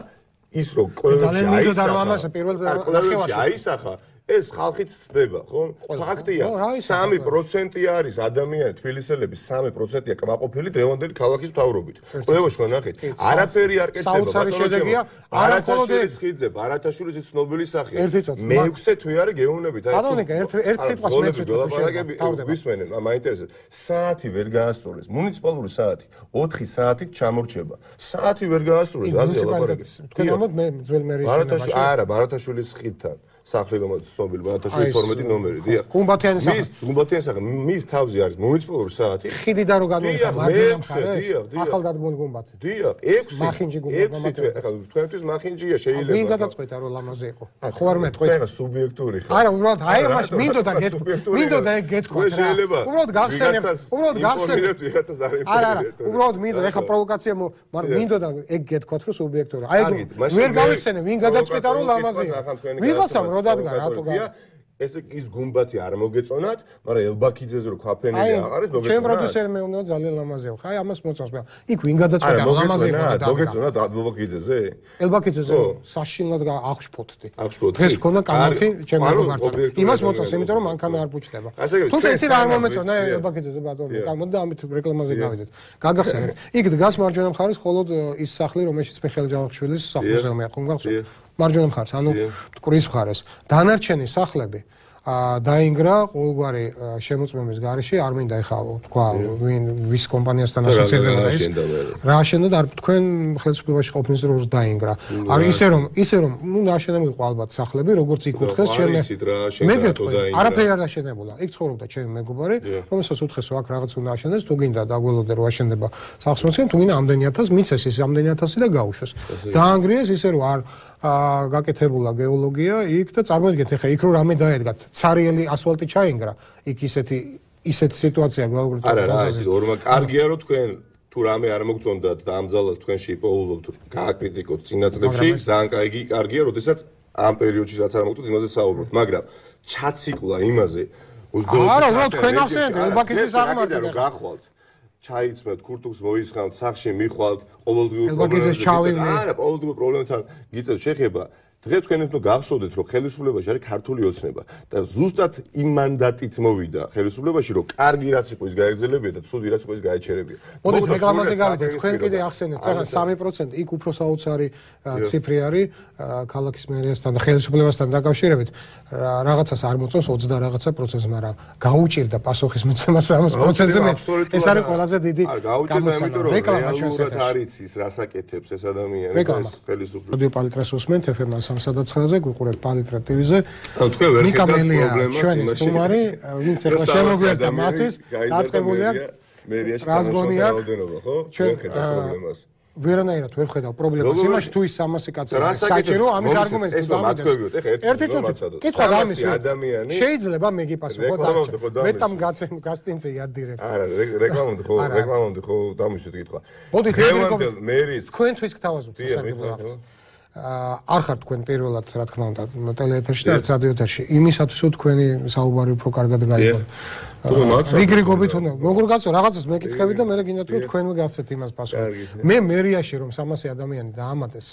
ის რომ ყველაში აისახა ამას პირველ ნახევარში აისახა ეს ხალხიც ცდება, ხო? ფაქტია, სამი პროცენტი არის ადამიანი თბილისელების სამი პროცენტია კმაყოფილი დღევანდელი ქალაქის მთავრობით. ყველაში ხო ნახეთ, არაფერი არ კეთდება, საოცარი შედეგია, არა მხოლოდ ეს ხიძე, ბარათაშვილის ცნობილი სახეა. მეექვსე თვე არის გეუნებით, აი. ბატონიკა, ერთ ერთ სიტყვას მეექვსე თვე შევდები. ვისმენენ, მაინტერესებს. საათი ვერ გაასწორეს, მუნიციპალური საათი, ოთხი საათით ჩამორჩება. საათი ვერ გაასწორეს, აზია ლაპარაკი. თქვენ ამოთ მე ძველ მერიის შენობაში. არა, ბარათაშვილის ხიდთან. სახლი რომელიც ცნობილი ბარათაშვილის თორმეტი ნომერი, დიახ. გუმბათიანი სახე. მის გუმბათიანი სახე, მის თავზე არის მუნიციპალური საათი. ხიდიდან რო გადმოიხდა მარჯვენა მხარეს. დიახ, დიახ. ახალგადგმული გუმბათი. დიახ, ექვსი. მახინჯი გუმბათი. ახლა თქვენთვის მახინჯია შეიძლება. ვინ გადაწყვეტა რომ ლამაზე იყო? ხო არ მეტყვით. ხა სუბიექტური ხა. არა, უბრალოდ აი მას მინდოდა გეთქვა. მინდოდა ეგ გეთქვა რა. უბრალოდ გახსენებ, უბრალოდ გახსენებ. არა, არა, უბრალოდ მინდოდა ეხა პროვოკაცია, მაგრამ მინდოდა ეგ გეთქვათ რომ სუბიექტური. აი ვერ გავიხსენე, ვინ გადაწყვეტა რომ ლამაზე იყო. ვიღაცამ რო დადგა რატო ეს ის გუმბათი არ მოგეწონათ, მაგრამ ელბაქიძეზე რო ქვაფენილი აღარ არის, მოგეწონათ. ჩემ პროდიუსერმა უნდა ძალიან ლამაზია. ხაი ამას მოწონს მე. იქ ვინ გადაწყვეტა ლამაზე იყო და მოგეწონათ ელბაქიძეზე? ელბაქიძეზე სახშილად აღშფოთდი. დღეს მქონდა კამათი ჩემ მეგობართან. იმას მოწონს, იმიტომ რომ მანქანა არ ბუჩდება. თუმცა იცი რა არ მომეწონა ელბაქიძეზე ბატონო. გამოდდა ამით რეკლამაზე გავიდეთ. გაგახსენეთ. იქ დგას მარჯვენა მხარეს მხოლოდ ის სახლი, რომელშიც მიხეილ ჯავახიშვილის სახლ-მუზეუმია, ხომ გახსოვთ? მარჯვენა მხარეს, ანუ მტკვრის მხარეს. დანარჩენი სახლები დაინგრა ყოველგვარი შემოწმების გარეშე, არ მინდა ეხა თქვა ვინ ვის კომპანიასთან ასოცირდება ის. რა აშენდა და თქვენ ხელისუფლებაში ყოფნის დროს დაინგრა. არის ისე რომ ისე რომ ნუ აშენებული ყო ალბათ სახლები, როგორც იკუთხეს ჩემი. მე გეტყვი, არაფერი არ აშენებულა. იქ ცხოვრობდა ჩემი მეგობარი, რომელსაც უთხრეს აქ რაღაც უნდა აშენდეს, თუ გინდა დაგველოდე რომ აშენდება სახლ-მუზეუმი, თუ გინდა ამდენი ათასი მიცეს ის ამდენი ათასი და გაუშვეს. დაანგრიეს ისე რომ არ აა გაკეთებულა გეოლოგია იქ და წარმოიდგინეთ ეხა იქ რო რამე დაედგათ ცარიელი ასფალტი ჩაინგრა იქ ისეთი ისეთი სიტუაცია გვალგრით არა რა ის ორმა კარგია რომ თქვენ თუ რამე არ მოგწონდათ და ამ ძალას თქვენში იპოულობთ გააკრიტიკოთ წინაწლებში ძალიან კაი კარგია როდესაც ამ პერიოდში რაც არ მოგწონთ იმაზე საუბრობთ მაგრამ ჩაციკლა იმაზე ოცდაოთხ არა რა თქვენ ახსენეთ ელბაქიძის აღმართი რომ გახვალთ ჩაიცმეთ ქურთულს მოისხამთ სახში მიხვალთ ყოველდღიურ პრობლემებთან არა ყოველდღიურ პრობლემებთან გიწევთ შეხება დღეს თქვენ უნდა გახსოვდეთ რომ ხელისუფლებაში არის ქართული ოცნება და ზუსტად იმ მანდატით მოვიდა ხელისუფლებაში რომ კარგი რაც იყო ის გაეგრძელებია და ცუდი რაც იყო ის გაეჩერებია მოდით რეკლამაზე გავიდეთ თქვენ კიდე ახსენეთ წაღა სამი პროცენტი იქ უფრო საოცარი ციფრი არის ქალაქის მერიასთან და ხელისუფლებასთან დაკავშირებით რაღაცას არ მოწონს ოცდა რაღაცა პროცენტს მაგრამ გაუჭირდა პასუხის მიცემა სამი პროცენტზე მეც ეს არის ყველაზე დიდი გამოსანა რეკლამა ჩვენს ეთერში არის ის რასაკეთებს ეს ადამიანი ეს ხელისუფლება რადიო პალიტრას უსმენთ ეფ-ს სამსადაცხრაზე გვიყურებთ პალიტრა ტივ-ზე. ანუ თქვენ ვერ ხედავთ პრობლემას ჩვენი სტუმარი, ვინც ახლა შემოგვერდა მასთვის, დაწყებულია მერიაში რაოდენობა, ხო? ჩვენ ხედავთ პრობლემას. ვერანაირად ვერ ხედავ პრობლემას იმაში თუ ის სამასი კაცი საჭირო ამის არგუმენტს დამიდეს. ერთი წუთი კითხვა ამის ადამიანი შეიძლება მე გიპასუხო და მეტამ გაცემ გასტინზე იადირებ. არა, რეკლამამდე ხო, რეკლამამდე ხო დამისვით კითხვა. მოდით მერის თქვენთვის გთავაზობთ სასარგებლო არ ხართ თქვენ პირველად რა თქმა უნდა ტელეეთერში და არც რადიოეთერში იმისათვის რომ თქვენი საუბარი უფრო კარგად გაიგო. რიგრიგობით უნდა როგორ გასწო რაღაცას მეკითხები და მე გინდათ რომ თქვენ მიგასცეთ იმას პასუხი. მე მერიაში რომ სამასი ადამიანი დაამატეს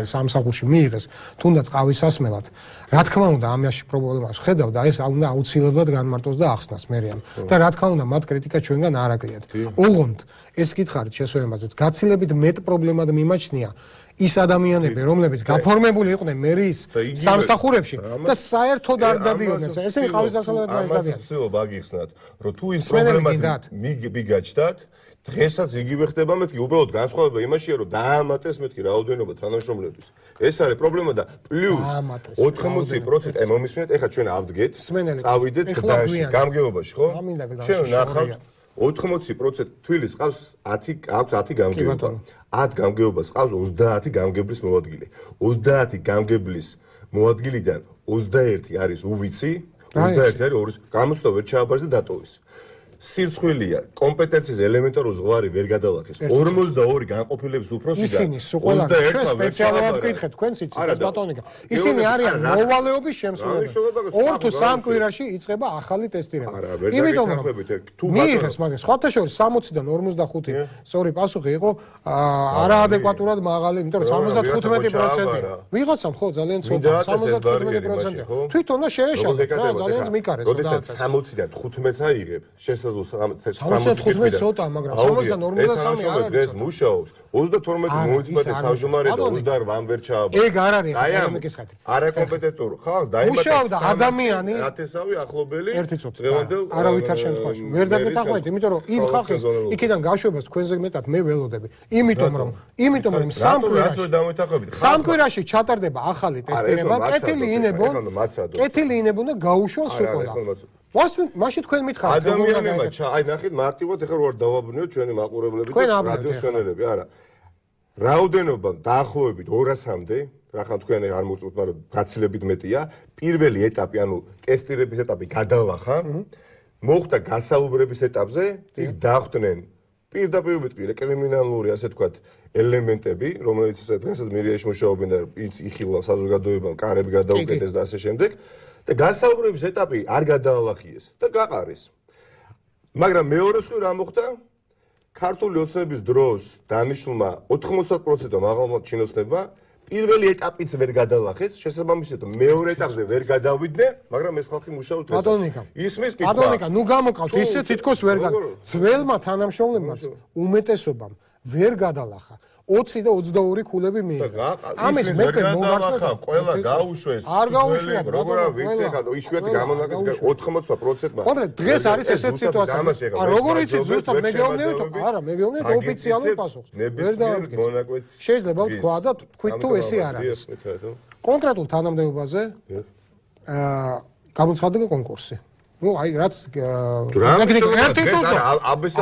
სამსახურში მიიღეს თუნდაც ყავისასმელად რა თქმა უნდა ამაში პრობლემას ხედავ და ეს უნდა აუცილებლად განმარტოს და ახსნას მერიამ და რა თქმა უნდა მათ კრიტიკა ჩვენგან არ აკლიათ. ოღონდ ეს კითხარით შესვენებაზეც გაცილებით მეტ პრობლემად მიმაჩნია ის ადამიანები, რომლებიც გაფორმებული იყვნენ მერის სამსახურებში და საერთოდ არ დადიოდნენ. ესენი ყავისასმელად დაიწყდნენ. ამას ვცდილობ აგიხსნათ, რომ თუ ის პრობლემად მიგაჩნდათ, დღესაც იგივე ხდება მეთქი, უბრალოდ განსხვავება იმაშია, რომ დაამატეს მეთქი რაოდენობა თანამშრომლების. ეს არის პრობლემა და პლუს ოთხმოცი პროცენტი მომისმენთ, ეხლა ჩვენ ავდგეთ, წავიდეთ გდანში, გამგეობაში, ხო? ჩვენ ნახავთ ოთხმოცი პროცენტი თვილის ყავს ათი აქვს ათი გამგეობა. ათ გამგეობას ყავს ოცდაათი გამგებლის მოადგილე. ოცდაათი გამგებლის მოადგილიდან ოცდაერთი არის უვიცი, ოცდაერთი არის ორის გამოცდა ვერ ჩააბარეს და დატოვის. სირცხვილია კომპეტენციის ელემენტარულ ზღვარი ვერ გადალახეს ორმოცდაორი განყოფილების უფროსიდან ისინი სულ ჩვენ სპეციალურად ვკითხეთ თქვენს იცით ბატონიკა ისინი არიან მოვალეობის შემსრულებელი ორ თუ სამ კვირაში იწყება ახალი ტესტირება იმიტომ რომ მიიღეს მაგრამ სხვათა შორის სამოციდან ორმოცდახუთი სწორი პასუხი იყო არაადეკვატურად მაღალი იმიტომ რომ სამოცდათხუთმეტი პროცენტი ვიღაცამ ხო ძალიან ცოტა სამოცდათხუთმეტი პროცენტი თვითონა შეეშალა რა ძალიან მიკარეს როდესაც სამოციდან თხუთმეტს აიღებ სამოცდათხუთმეტი ცოტა მაგრამ სამოცდან ორმოცდასამი არ არის დღეს მუშაობს ოცდათორმეტი მოიწმენდა თავმჯდომარე და ოცდაორი ვერ ჩააბარა ეგ არ არის ეკონომიკის ხათი არაკომპეტენტურ ხალხს დაიმატა მუშაობდა ადამიანი ათასავი ახლობელი დღევანდელ არავითარ შემთხვევაში ვერ დაგეთანხმებით იმიტომ რომ იმ ხალხის იქიდან გაშვებას თქვენზე მეტად მე ველოდები იმიტომ რომ იმიტომ რომ სამ კვირაში სამ კვირაში ჩატარდება ახალი ტესტირება კეთილი ინებონ კეთილი ინებონ და გაუშვან სულ ყველა ვას მაშინ თქვენ მითხარით ადამიანებმა აი ნახეთ მარტივად ეხლა ვარ დავაბრუნოთ ჩვენი მაყურებლები და რადიოს ხენელები არა რაოდენობა დაახლოებით ორასამდე რახან თქვენ არ მოწუთ მაგრამ გაცილებით მეტია პირველი ეტაპი ანუ ტესტირების ეტაპი გადალახა მოხდა გასაუბრების ეტაპზე იქ დახვდნენ პირდაპირ მეთქი კრიმინალური ასე თქვათ ელემენტები რომელიც დღესაც მერიაში მუშაობენ და იხილავ საზოგადოებამ კარები გადაუკეტეს და ასე შემდეგ და გასაუბრების ეტაპი არ გადაალახიეს და გაყარეს მაგრამ მეორე მხრივ რა მოხდა ქართული ოცნების დროს დანიშნულმა ოთხმოცდაათ პროცენტმა მაღალმა ჩინოსნებმა პირველი ეტაპიც ვერ გადალახეს შესაბამისად მეორე ეტაპზე ვერ გადავიდნენ მაგრამ ეს ხალხი მუშაობს ბატონიკა ისმის კითხვა ბატონიკა ნუ გამოკავთ ისე თითქოს ვერ გადა ძველმა თანამშრომლებმაც უმეტესობამ ვერ გადალახა ოცი და ოცდაორი ქულები მიიღეს. ამის მეტი მომართვა ყველა გაუშვეს. არ გაუშვიათ, როგორ ვიცი ხა იშვიათი გამონაკლის ოცდაოთხ პროცენტმა. მაგრამ დღეს არის ესეთი სიტუაცია. ა როგორ იცით ზუსტად მე გეუბნებით? არა, მე გეუბნებით ოფიციალურ პასუხს. ვერ დავამტკიცე. შეიძლება ვთქვა და თქვით თუ ესე არ არის. კონკრეტულ თანამდებობაზე აა გამოცხადდა კონკურსი. ну აი რაც ერთი თუცა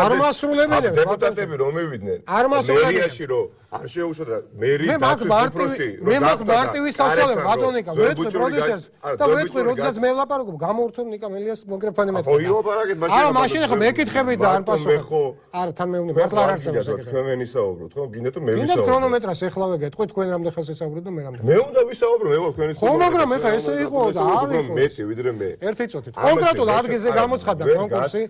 არ მასრულებელია დეპუტატები რომ მივიდნენ მერიაში რომ არ შეუშვათ მერი დაცვის მე მაგ მარტივი საშუალება ბატონიკა ვეთქვი პროდიუსერს და ვეთქვი როდესაც მე ვლაპარაკობ გამორთონ ნიკა მელიას მოგრეფანი მეთქი ხო ილაპარაკეთ მაშინ არა მაშინ ხა მეკითხები და არ პასუხი არა თან მეუბნები მართლა არ არსებობს ეგრე თქვენ ვისაუბროთ ხო გინდა თუ მე ვისაუბრო გინდა ქრონომეტრას ეხლავე გეტყვი თქვენ რამდენ ხელს ესაუბრეთ და მე რამდენ მე უნდა ვისაუბრო მე ვარ თქვენი ხო მაგრამ ეხა ესე იყო და არ იყო მეტი ვიდრე მე ერთი წუთით კონკრეტულ ადგილზე გამოცხადდა კონკურსი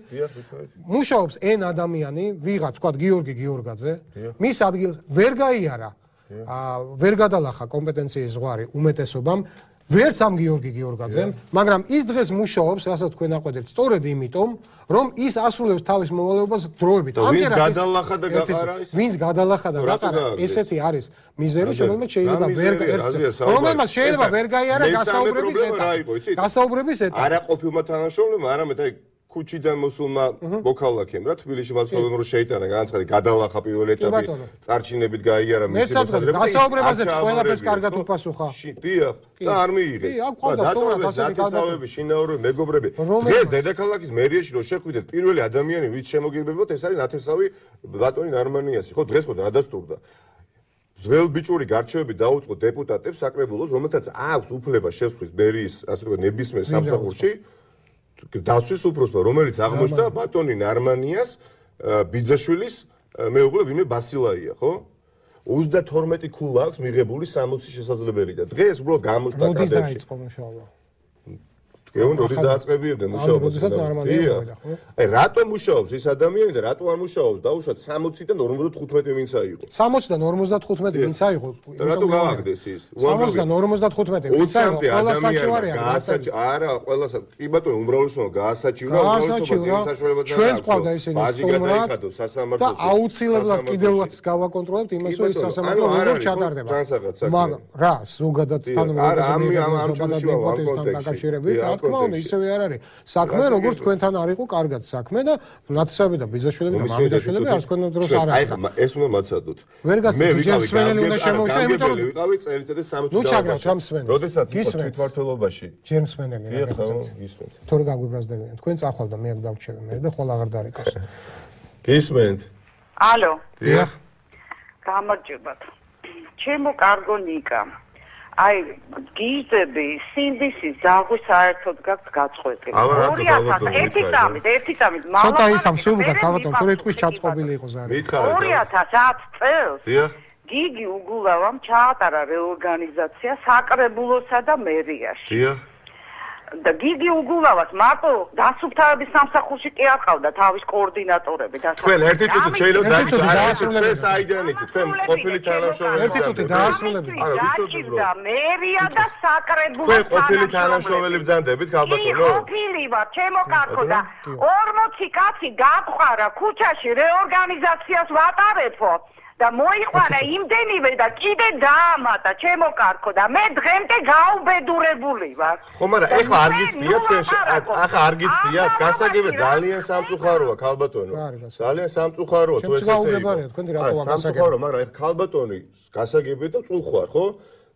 მუშაობს ენ ადამიანი ვიღაც თქვა გიორგი გიორგაძე მის ადგილს ვერ გაიარა ვერ გადალახა კომპეტენციის ზღვარი უმეტესობამ ვერც ამ გიორგი გიორგაძემ მაგრამ ის დღეს მუშაობს რასაც თქვენ აყვედეთ სწორედ იმიტომ რომ ის ასრულებს თავის მოვალეობას დროებით ამჯერად ვინც გადალახა და გაყარა ის ვინც გადალახა და გაყარა ესეთი არის მიზერი რომელმაც შეიძლება ვერ რომელმაც შეიძლება ვერ გაიარა გასაუბრების ეტაპი გასაუბრების ეტაპი არა ყოფილმა თანამშრომლებმა არამედ აი ქუჩიდან მოსულმა მოქალაქემ რა თბილისში მაცხოვრებელმა რო შეიტანა განაცხადი გადალახა პირველი ეტაპი წარჩინებით გაიარა მისი მოსაზრება გასაუბრებაზეც ყველაფერს კარგად უპასუხა დიახ და არ მიიღეს და დასავლები შინაური მეგობრები დღეს დედაქალაქის მერიაში რო შეხვიდეთ პირველი ადამიანი ვინც შემოგირბებოთ ეს არის ნათესავი ბატონი ნარმანიასი ხო დღეს ხო დადასტურდა ძველ ბიჭური გარჩევები დაუწყო დეპუტატებს საკრებულოს რომელთაც აქვს უფლება შესვლის მერიის ასე ვთქვათ ნებისმიერ სამსახურში დაცვის უფროსმა რომელიც აღმოჩნდა ბატონი ნარმანიას ბიძაშვილის მეუღლე ვინმე ბასილაია ხო ოცდათორმეტი ქულა აქვს მიღებული სამოცი შესაძლებელი და დღეს უბრალოდ გამოჩნდა კადრებში მოდის დაიწყო მუშაობა გეუნ როდის დააწყებიებდნენ მუშაობას აი რატომ მუშაობს ეს ადამიანი და რატო არ მუშაობს დაუშვათ სამოციდან ორმოცდათხუთმეტი ვინც აიღო სამოციდან ორმოცდათხუთმეტი ვინც აიღო და რატო გავაგდეს ის სამოციდან ორმოცდათხუთმეტი ვინც აიღო ყველა საჩივარია არა ყველა კი ბატონო უმრავლესობა გაასაჩივრა უმრავლესობა ჩვენს ყავდა ისინი სტუმრად და აუცილებლად კიდევაც გავაკონტროლებთ იმას რომ ის სასამართლო როგორ ჩატარდება მაგრამ რა ზოგადად თანამედროვე დაკავშირებით თქმა უნდა ისევე არ არის საქმე როგორც თქვენთან არ იყო კარგად საქმე და ნათესავები და ბიზაშვილები და მამიდაშვილები არ თქვენ დროს არ არის აი ეს უნდა მაცადოთ ვერ გასცემ ჯერ სვენელი უნდა შემოუშვა იმიტომ რომ ვიყავი წელიწადი სამოცი ნუ ჩაგრავთ რამ სვენელს როდესაც იყო თვითმმართველობაში ჯერ სვენელი რა გისმენთ თორე გაგვიბრაზდებიან თქვენ წახვალ და მე აქ დავჩევი მე და ხოლ აღარ დარეკავს გისმენთ ალო დიახ გამარჯობათ ჩემო კარგო ნიკა აი გიზები სინდისი ზაღვი საერთოდ გაქვს გაწყვეტილი ორი ათას ერთი წამით ერთი წამით ცოტა ისამ სულგა ქალბატონ თუ რითქვის ჩაწყობილი იყო ზარი ორი ათას ათი წელს გიგი უგულავამ ჩაატარა რეორგანიზაცია საკრებულოსა და მერიაში დიახ და გიგი უგულავას მარტო დასუფთავების სამსახურში კი აყავდა თავის კოორდინატორები და თქვენ ერთი წუთი შეიძლება დაასრულებთ თქვენ საიდან იცით თქვენ ყოფილი თანამშრომელი ერთი წუთი დაასრულებთ არა ვიცოდი და მერია და საკრებულო თქვენ ყოფილი თანამშრომელი ბრძანდებით ქალბატონო ყოფილი ვარ ჩემო კარგო და ორმოცი კაცი გაყარა ქუჩაში რეორგანიზაციას ვატარებო და მოიყვანა იმდენივე და კიდე დაამატა ჩემო კარგო და მე დღემდე გაუბედურებული ვარ ხო მაგრამ ეხლა არ გიცდია თქვენ ახლა არ გიცდია გასაგებია ძალიან სამწუხაროა ქალბატონო ძალიან სამწუხაროა თუ ეს ესე იყო თქვენ რატოა გასაგებია სამწუხარო მაგრამ ეხლა ქალბატონი გასაგებია და წუხვარ ხო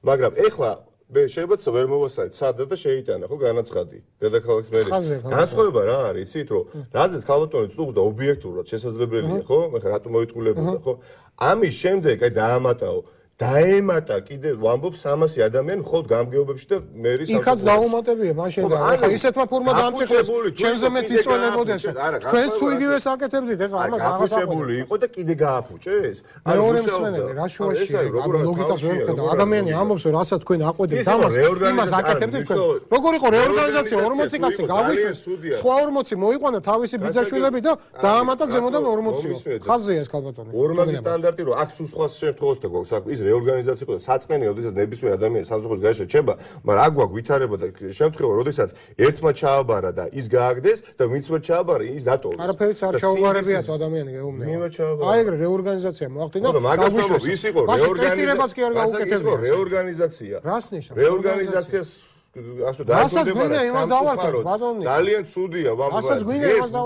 მაგრამ ეხლა მე შეიძლება ვერ მოვასწრეთ სადა და შეიტანა ხო განაცხადი დედაქალაქის მერია განსხვავება რა არის იცით რომ რაზეც ქალბატონი წუხს და ობიექტურად შესაძლებელია ხო მე ხა რატომ მოიტყულებოდა ხო ამის შემდეგ აი დაამატაო დაემატა კიდე ვამბობ სამასი ადამიანი მხოლოდ გამგეობებში და მერის იქაც დაუმატებია მაშინ და ახლა ისეთმა ფორმად ამწიხეს ჩემზე მეც იწველებოდეს თქვენს თუ იგივეს აკეთებდით ახლა ამას აღარ აღწებული იყო და კიდე გააფუჭეს მეორე მსმენელი რა შუაშია ლოგიკას ვერ ხედავ ადამიანი ამბობს რომ რასაც თქვენ აყვედით ამას იმას აკეთებდით თქვენ როგორ იყო რეორგანიზაცია ორმოცი კაცი გავიშვეს სხვა ორმოცი მოიყვანა თავისი ბიძაშვილები და დაამატა ზემოდან ორმოცი ხაზია ეს ქალბატონი ორმაგი სტანდარტი რომ აქ სულ სხვა შემთხვევაში და გვაქვს რეორგანიზაცია იყო და საწყენია, როდესაც ნებისმიერ ადამიანს სამსახურის გარეშე რჩება, მაგრამ აქ გვაქვს ვითარება და შემთხვევა, როდესაც ერთმა ჩააბარა და ის გააგდეს და ვინც ვერ ჩააბარა, ის დატოვეს. არაფერიც არ ჩაუბარებია თუ ადამიანი გეუბნება. მე ვერ ჩააბარა. აი ეგრე რეორგანიზაცია მოახდინა. მაგასთანავ ის იყო რეორგანიზაციაც კი არ გაუკეთებია. რეორგანიზაცია. რას ნიშნავს? რეორგანიზაციას ასე დაიწყებოდა ძალიან ცუდია, ვამბობ.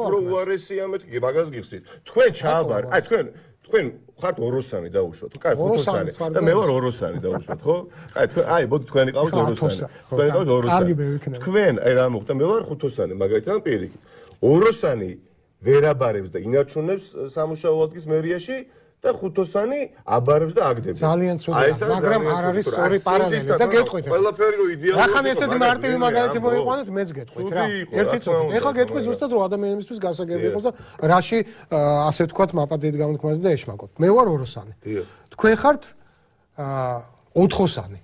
უფრო უარესია მეთქი, მაგას გიხსნით. თქვენ ჩააბარა, აი თქვენ თქვენ ხართ ოროსანი დაუშვათ. კაი, ხუთოსანი და მე ვარ ოროსანი დაუშვათ, ხო? კაი, თქვენ აი, ბოდი თქვენი ყავთ ოროსანი. თქვენი ყავთ ოროსანი. თქვენ აი რა მოხდა? მე ვარ ხუთოსანი, მაგალითად პირიქით. ოროსანი ვერაბარებს და ინარჩუნებს სამუშაო ადგილს მერიაში და ხუთოსანი აბარებს და აგდებს. ძალიან ცუდია, მაგრამ არ არის სწორი პარალელი და გეტყვით. ყველაფერი რო იდეალურად. ახლა ესეთი მარტივი მაგალითი მოიყვანოთ, მეც გეტყვით რა. ერთი წუთი. ეხლა გეტყვით ზუსტად რომ ადამიანებისთვის გასაგები იყოს და რაში ასე ვთქვათ მაპატიეთ გამოთქმაზე და ეშმაკოთ. მე ვარ ოროსანი. თქვენ ხართ ოთხოსანი.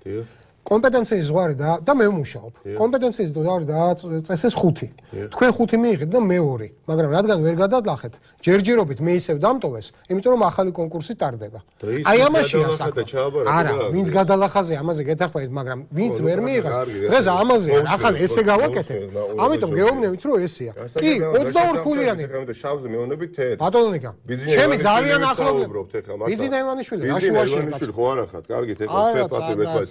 კომპეტენციის ზღვარი და და მე ვმუშაობ. კომპეტენციის ზღვარი დააწესეს ხუთი. თქვენ ხუთი მიიღეთ და მე ორი. მაგრამ რადგან ვერ გადადლახეთ, ჯერჯერობით მე ისევ დამტოვეს, იმიტომ რომ ახალი კონკურსი ტარდება. აი ამაშია საქმე. არა, ვინც გადალახაზე ამაზე გეთახმებით, მაგრამ ვინც ვერ მიიღეს, დღეს ამაზე ახლა ესე გავაკეთეთ. ამიტომ გეუბნებით რომ ესეა. კი, ოცდაორი ქულიანი. შავზე მეუბნებით თეთრ. ბატონიკა. ჩემი ძალიან ახლობლობთ ეხლა მაგას. ბიზინა ივანიშვილი, რა შუაში იყო? ხო არა ხარ, კარგით ეხლა ცეპატი ვეთქვათ.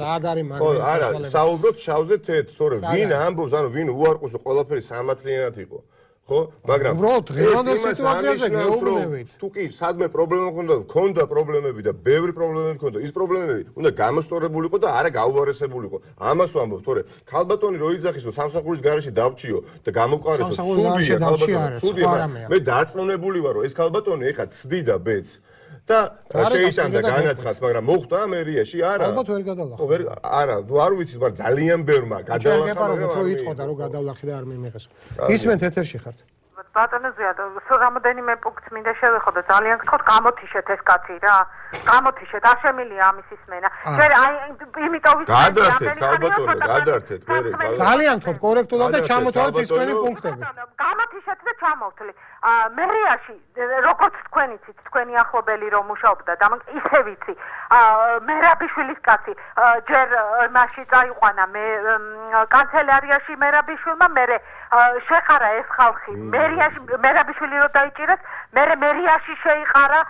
არა, არა, საუბრობთ შავზე თეთრ, სწორედ. ვინ ამბობს, ანუ ვინ უარყოს ყველაფერი სამართლიანად იყო. ხო, მაგრამ უბრალოდ დღევანდელ სიტუაციაზე გეუბნებით. თუ კი სადმე პრობლემა მქონდა, მქონდა პრობლემები და ბევრი პრობლემები მქონდა, ის პრობლემები უნდა გამოსწორებული იყო და არა გაუარესებული იყო. ამას ვამბობ, თორე ქალბატონი რო იძახის, რომ სამსახურის გარეშე დავჭიო და გამოვყარესო, ცუდია ქალბატონი, ცუდია. მე დარწმუნებული ვარ, რომ ეს ქალბატონი ეხა ცდიდა ბედს. და შეიტანდა განაცხადს, მაგრამ მოხდა მერიაში არა. ალბათ ვერ გადალახა. ხო, ვერ არა, ნუ არ ვიცი, მაგრამ ძალიან ბევრმა გადალახა, მაგრამ რო იტყოდა რომ გადავლახი და არ მიმიღეს. ისმენთ ეთერში ხართ. ბატონო ზიად, რამოდენიმე პუნქტს მინდა შევეხო და ძალიან გთხოვთ გამოთიშეთ ეს კაცი რა. გამოთიშეთ, არ შემილია ამის ისმენა. შენ აი იმიტომ ვიცი გადართეთ, ალბათო, გადართეთ, მერე. ძალიან გთხოვთ კორექტულად და ჩამოთვალეთ ისმენი პუნქტები. გამოთიშეთ და ჩამოვთვლი. მერიაში როგორც თქვენ იცით, თქვენი ახლობელი რომ მუშაობდა და ისე ვიცი. მერაბიშვილის კაცი ჯერ მასში წაიყვანა მე კანცელარიაში მერაბიშვილმა, მერე შეხარა ეს ხალხი. მერიაში მერაბიშვილი რო დაიჭირეს, მერე მერიაში შეიყარა,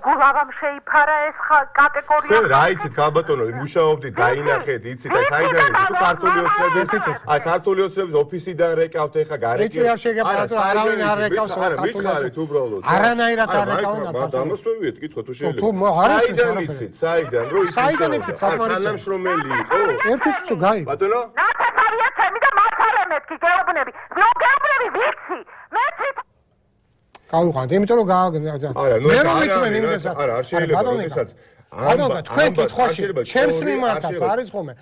გულავამ შეიფარა ეს კატეგორია. შენ რა იცით ქალბატონო, მუშაობდი, დაინახეთ, იცით, აი საიდან იცით, თუ ქართული ოცნების იცით, აი ქართული ოცნების ოფისიდან რეკავთ ეხა გარეკი. არა, არავინ არ რეკავს არა, მითხარით უბრალოდ. არანაირად არ რეკავენ. დამოსვევიეთ, კითხვა თუ შეიძლება. საიდან იცით, საიდან, რო იცით. საიდან იცით, საკმარისია. თანამშრომელი იყო. ერთი წუთი გაიგო. ბატონო? ნაცარია ჩემი და მათარე მეთქი გეუბნები. ნუ გეუბნები ვიცი. მე ვიცი. გავიყვანთ, იმიტომ რომ გააგზავნა. არა, ნუ არა, არა, არ შეიძლება, როდესაც ანუ თქვენ კითხვაში ჩემს მიმართაც არის ხოლმე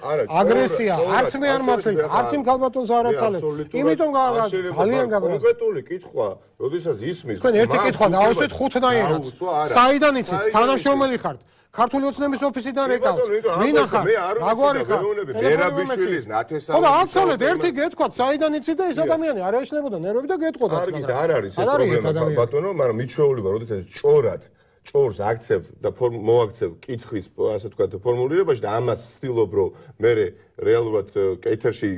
აგრესია, არც მე არ მაცრით, არც იმ ქალბატონს არ აცალებ. იმიტომ ძალიან კონკრეტული კითხვა, როდესაც ისმის თქვენ ერთი კითხვა დაუსვით ხუთნაირად. საიდან იცით? თანამშრომელი ხართ? ქართული ოცნების ოფისიდან ეკავთ. ვინ ახარ? რაგვარი ხარ? ბერაბიშვილის ნათესავი. ხო, აცალეთ ერთი გეთქვათ, საიდან იცით და ეს ადამიანი არ ეშნებოდა ნერვები და გეტყოდა. კარგი, და არ არის ეს პრობლემა ბატონო, მაგრამ მიჩვეულება, როდესაც ჭორად ჭორს აქცევ და მოაქცევ კითხვის, ასე ვთქვათ, ფორმულირებაში და ამას ვცდილობ, რომ მე რეალურად კეთერში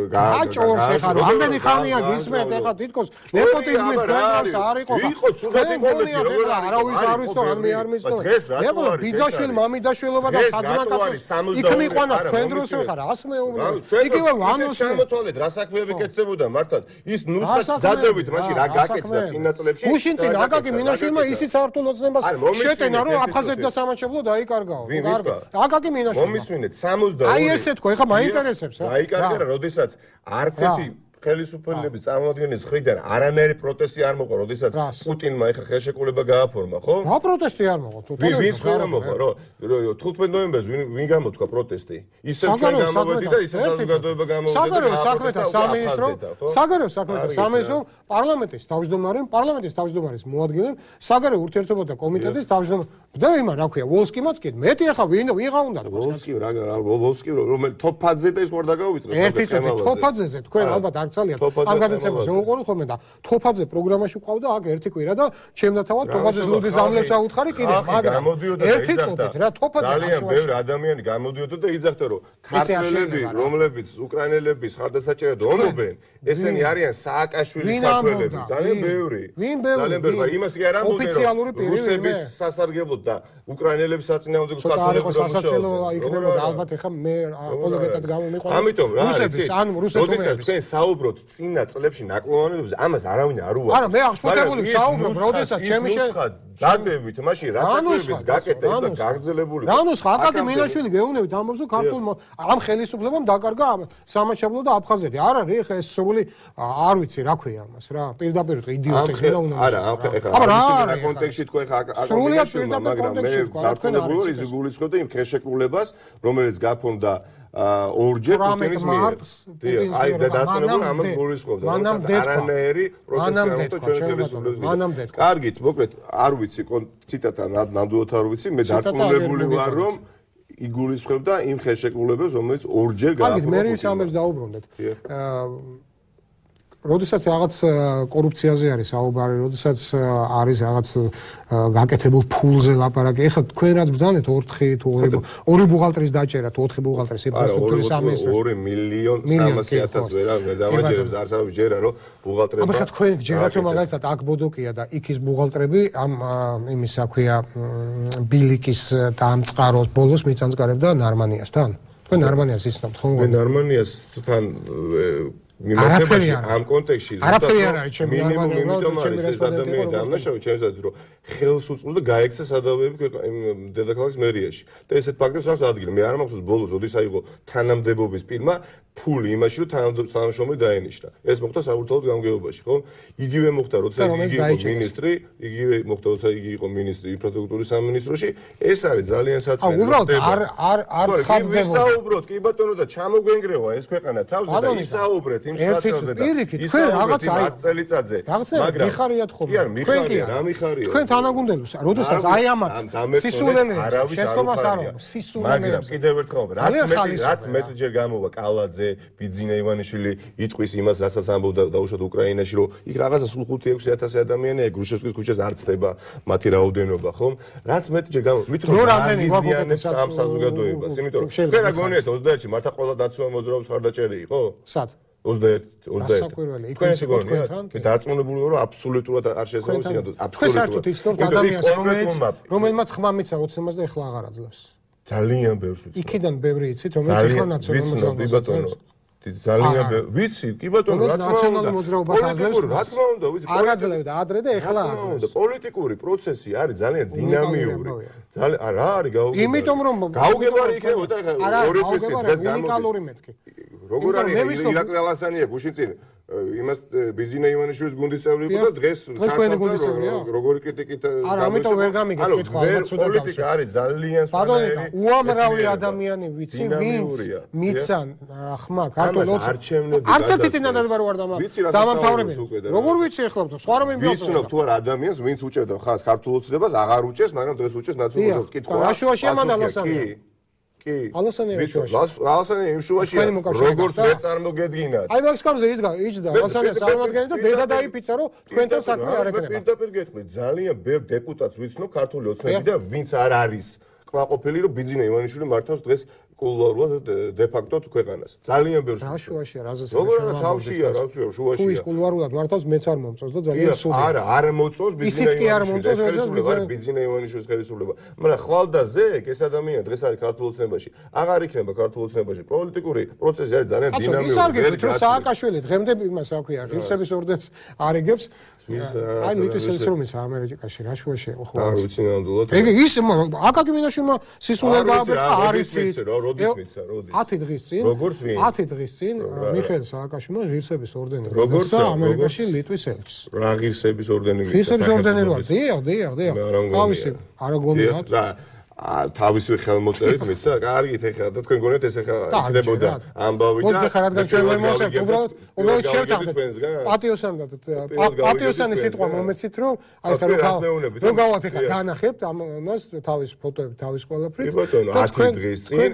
გააჭორს ეხლა რამდენი ხანია გისმენთ ეხლა თითქოს ნეპოტიზმით ქვეყანას არ იყო იყო ცუდად იყოლები როგორ არავის არ ვიცო ან მე არ მისნო ეხლა ბიძაშვილი მამიდაშვილობა და საძმაკაცო იქ მიყვანა თქვენ დროს ეხლა რას მეუბნები იგივე ვანოს შემოთვალეთ რა საქმეები კეთდებოდა მართლაც ის ნუსხას დადებით მაშინ რა გაკეთდა წინა წლებში გუშინ წინ აკაკი მინაშვილმა ისიც ართულ ოცნებას შეტენა რომ აფხაზეთ და სამაჩებლო დაიკარგაო კარგი აკაკი მინაშვილმა მომისმინეთ სამოცდაორი აი ესე თქვა ეხლა მაინტერესებს რა. დაიკარგა რა, როდესაც არც ერთი ხელისუფლების წარმომადგენლის მხრიდან არანაირი პროტესტი არ მოყვა, როდესაც პუტინმა ეხა ხელშეკრულება გააფორმა, ხო? რა პროტესტი არ მოყვა? ვინ ხერა მოყვა, რო თხუთმეტ ნოემბერს ვინ ვინ გამოთქვა პროტესტი? ისევ ჩვენ გამოვედი და ისევ საზოგადოება გამოვედა. საგარეო საქმეთა სამინისტრო, საგარეო საქმეთა სამინისტრო, პარლამენტის თავმჯდომარე, პარლამენტის თავმჯდომარის მოადგილე, საგარეო ურთიერთობათა კომიტეტის თავმჯდომარე. და იმა რა ქვია, ვოლსკიმაც კი მეტი ახლა ვინ ვიღა უნდა ვოლსკი რა ვოლსკი რომელი თოფაძე და ის ხوار დაგავიწყეს ერთი წუთი თოფაძეზე თქვენ ალბათ არ გცალიათ ამ გადაცემას უყურე ხოლმე და თოფაძე პროგრამაში ყავდა აქ ერთი კვირა და ჩემ და თავად თოფაძეს ლუდის დამლევს აუთხარი კიდე მაგრამ ერთი წუთით რა თოფაძე ძალიან ბევრი ადამიანი გამოდიოდა და იძახდა რომ ქართველები რომლებიც უკრაინელების ხარდასაჭერად ომობენ ესენი არიან სააკაშვილის ქართველები ძალიან ბევრი ძალიან ბევრი მაგრამ იმას კი არ ამბობენ რომ რუსების სასარგებლოდ და უკრაინელების საწინააღმდეგო ქართველები სასაცილო იქნებოდა ალბათ ეხა მე აპოლოგეტად გამომიყვანა ამიტომ რა რუსების ან რუსეთების თქვენ საუბრობთ წინა წლებში ნაკლოვანებებზე ამას არავინ არ უარს არა მე აღშფოთებული საუბრობ როდესაც ჩემი დადებით მაშინ რა საქმეებიც გაკეთდა და გაგრძელებული რა ნუსხა აკაკი მინაშვილი გეუნებით ამბობს რომ ქართულ ამ ხელისუფლებამ დაკარგა სამაჩაბლო და აფხაზეთი არ არის ეხა ეს სრული არ ვიცი რა ქვია ამას რა პირდაპირ იდიოტიზმი და უნდა არა ეხა რა კონტექსტში თქვენ ეხა აკაკი მაგრამ მე დარწმუნებული ვარ ის გულისხმობდა იმ ხელშეკრულებას რომელიც გაფონდა ორჯერ პუტინის მიერ. აი და დაწუნებული ამას გულისხმობდა. არანაირი პროტესტი არ მოხდა ჩვენი ხელისუფლების მიერ. კარგით, მოკლედ არ ვიცი ციტატა ნამდვილად არ ვიცი, მე დაწუნებული ვარ რომ იგულისხმობდა იმ ხელშეკრულებას რომელიც ორჯერ გააფორმა. კარგით, მე ის ამბებს დაუბრუნდეთ. როდესაც რაღაც კორუფციაზე არის საუბარი, როდესაც არის რაღაც გაკეთებულ ფულზე ლაპარაკი. ეხლა თქვენ რაც ბრძანეთ ოთხი თუ ორი ორი ბუღალტრის დაჭერა თუ ოთხი ბუღალტრის ინფრასტრუქტურის სამინისტრო. ორი მილიონ სამასი ათას ვერა მე დამაჯერებს არც არ ვიჯერა რომ ბუღალტრება. აბა ხა თქვენ ჯერათ რომ მაგალითად აქ ბოდოკია და იქ ის ბუღალტრები ამ იმის აქვია ბილიკის და ამ წყაროს ბოლოს მიწანწკარებდა ნარმანიასთან. თქვენ ნარმანიას იცნობთ ხო? მე ნარმანიასთან მიმართებაში ამ კონტექსტში არაფერი არ არის ჩემი ნორმალური იმიტომ არის ეს ადამიანი დამნაშავე ჩემსაც რომ ხელს უწყობდა გაექცა სადავეები დედაქალაქის მერიაში და ესეთ ფაქტებს აქვს ადგილი მე არ მახსოვს ბოლოს როდის აიღო თანამდებობის პირმა ფული იმაში რომ თანამშრომელი დაენიშნა ეს მოხდა საბურთალოს გამგეობაში ხო იგივე მოხდა როდესაც იგი იყო მინისტრი იგივე მოხდა როდესაც იგი იყო მინისტრი ინფრასტრუქტურის სამინისტროში ეს არის ძალიან საწყისი აა უბრალოდ არ არ არ ცხადდება ვისაუბროთ კი ბატონო და ჩამოგვენგრევა ეს ქვეყანა თავზე და ისაუბრეთ იმ სიტუაციაზე და თქვენ რაღაც აი წელიწადზე მაგრამ მიხარიათ ხოლმე კი არ მიხარია რა მიხარია თქვენ თანაგუნდელს როდესაც აი ამათ სისულელე შეცდომას არ აქვს სისულელე მაგრამ კიდევ ერთხელ რაც მეტი რაც მეტჯერ გამოვა კალაძე ბიძინა ივანიშვილი იტყვის იმას რასაც ამბობდა დაუშვათ უკრაინაში რომ იქ რაღაცა სულ ხუთი ექვსი ათასი ადამიანია გრუშევსკის ქუჩაზე არ ცდება მათი რაოდენობა ხომ რაც მეტჯერ გამოვა მით რომ რამდენი ვაგონებს ამ საზოგადოებას იმიტომ რომ თქვენ რა გონიათ ოცდაერთში მართლა ყველა დაცვა მოძრაობის ხარდაჭერი იყო სად ოცდაერთი ოცდაერთი საკვირველი იქ ის იყო თქვენთან მე დარწმუნებული ვარ რომ აბსოლუტურად არ შესაძლოა სინამდვილე თქვენ საერთოდ ისნოთ ადამიანს რომელიც რომელმაც ხმა მიცა ოცნებას და ეხლა აღარ აძლევს ძალიან ბევრს ვიცი იქიდან ბევრი იცით რომელიც ეხლა ნაციონალური მოძრაობას ძალიან ვიცი კი ბატონო რა ნაციონალური მოძრაობას აძლევს რა თქმა უნდა ვიცი არ აძლევდა ადრე და ეხლა აძლევს პოლიტიკური პროცესი არის ძალიან დინამიური ძალიან რა არის გაუგებარი იმიტომ რომ გაუგებარი იქნებოდა ორი თვის დღეს გამოდის როგორ არის ირაკლი ალასანია გუშინ წინ იმას ბიძინა ივანიშვილის გუნდის წევრი იყო და დღეს როგორი კრიტიკით არა ამიტომ ვერ გამიგეთ კითხვა ალბათ სულ პოლიტიკა არის ძალიან სხვანაირი უამრავი ადამიანი ვიცი ვინც მიცან ხმა ქართულ ოცნებას არც ერთი წინადად ვერ ვარ დამამთავრებელი როგორ ვიცი ახლა სხვა რომ იმბიოს ვიცნობ თუ არა ადამიანს ვინც უჭერდა ხას ქართულ ოცნებას აღარ უჭერს მაგრამ დღეს უჭერს ნაციონალურ კითხვა რა შუაში ამანდალოსანი კი ალოსანი შუაში ალოსანი იმ შუაში როგორც ვერ წარმოგედგინათ აი მაგ სკამზე ის იჯდა ალოსანი წარმოგედგინეთ და დედა დაიფიცა რომ თქვენთან საქმე არ ეკნება პირდაპირ გეტყვი ძალიან ბევრ დეპუტატს ვიცნობ ქართული ოცნებიდან ვინც არ არის კმაყოფილი რომ ბიძინა ივანიშვილი მართავს დღეს კულუარულად დე ფაქტო ქვეყანას ძალიან ბევრს რა შუაშია რაზეც როგორ არა თავშია რა ვიცი შუაშია თუ ის კულუარულად მართავს მეც არ მომწონს და ძალიან სუდი არა არ მოწონს ბიძინა ივანიშვილის ბიძინა ივანიშვილის ხელისუფლება მაგრამ ხვალდაზე ეს ადამიანი დღეს არის ქართულ ოცნებაში აღარ იქნება ქართულ ოცნებაში პოლიტიკური პროცესი არის ძალიან დინამიური ის არ გეტყვით რომ სააკაშვილი დღემდე იმას აქვია ღირსების ორდენს არიგებს აი ლიტვის ინსტრუმენტს ამერიკაში რა შუაში ხო არ ვიცი ნამდვილად ეგ ის აკაკი მინაშვილმა სისულელ გააბერტა არის ის როდის მიცა როდის ათი დღის წინ როგორც ვინ ათი დღის წინ მიხეილ სააკაშვილმა ღირსების ორდენი მიიღო ამერიკაში ლიტვის ელჩს რა ღირსების ორდენი მიიღო ღირსების ორდენი რა დიახ დიახ დიახ თავისი არა გონიათ თავისი ხელმოწერით მიცა კარგით ეხლა და თქვენ გონიათ ეს ეხლა იქნებოდა ამბავი და მოდი ხარ რადგან ჩვენ ვერ მოსწევთ უბრალოდ უბრალოდ შევთანხმდით პატიოსანად პატიოსანი სიტყვა მომეცით რომ აი ხა რო გავათ ეხლა განახებთ ამას თავის ფოტოები თავის ყველაფრით და თქვენ დღის წინ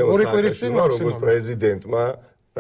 ორი კვირის წინ მაქსიმუმ პრეზიდენტმა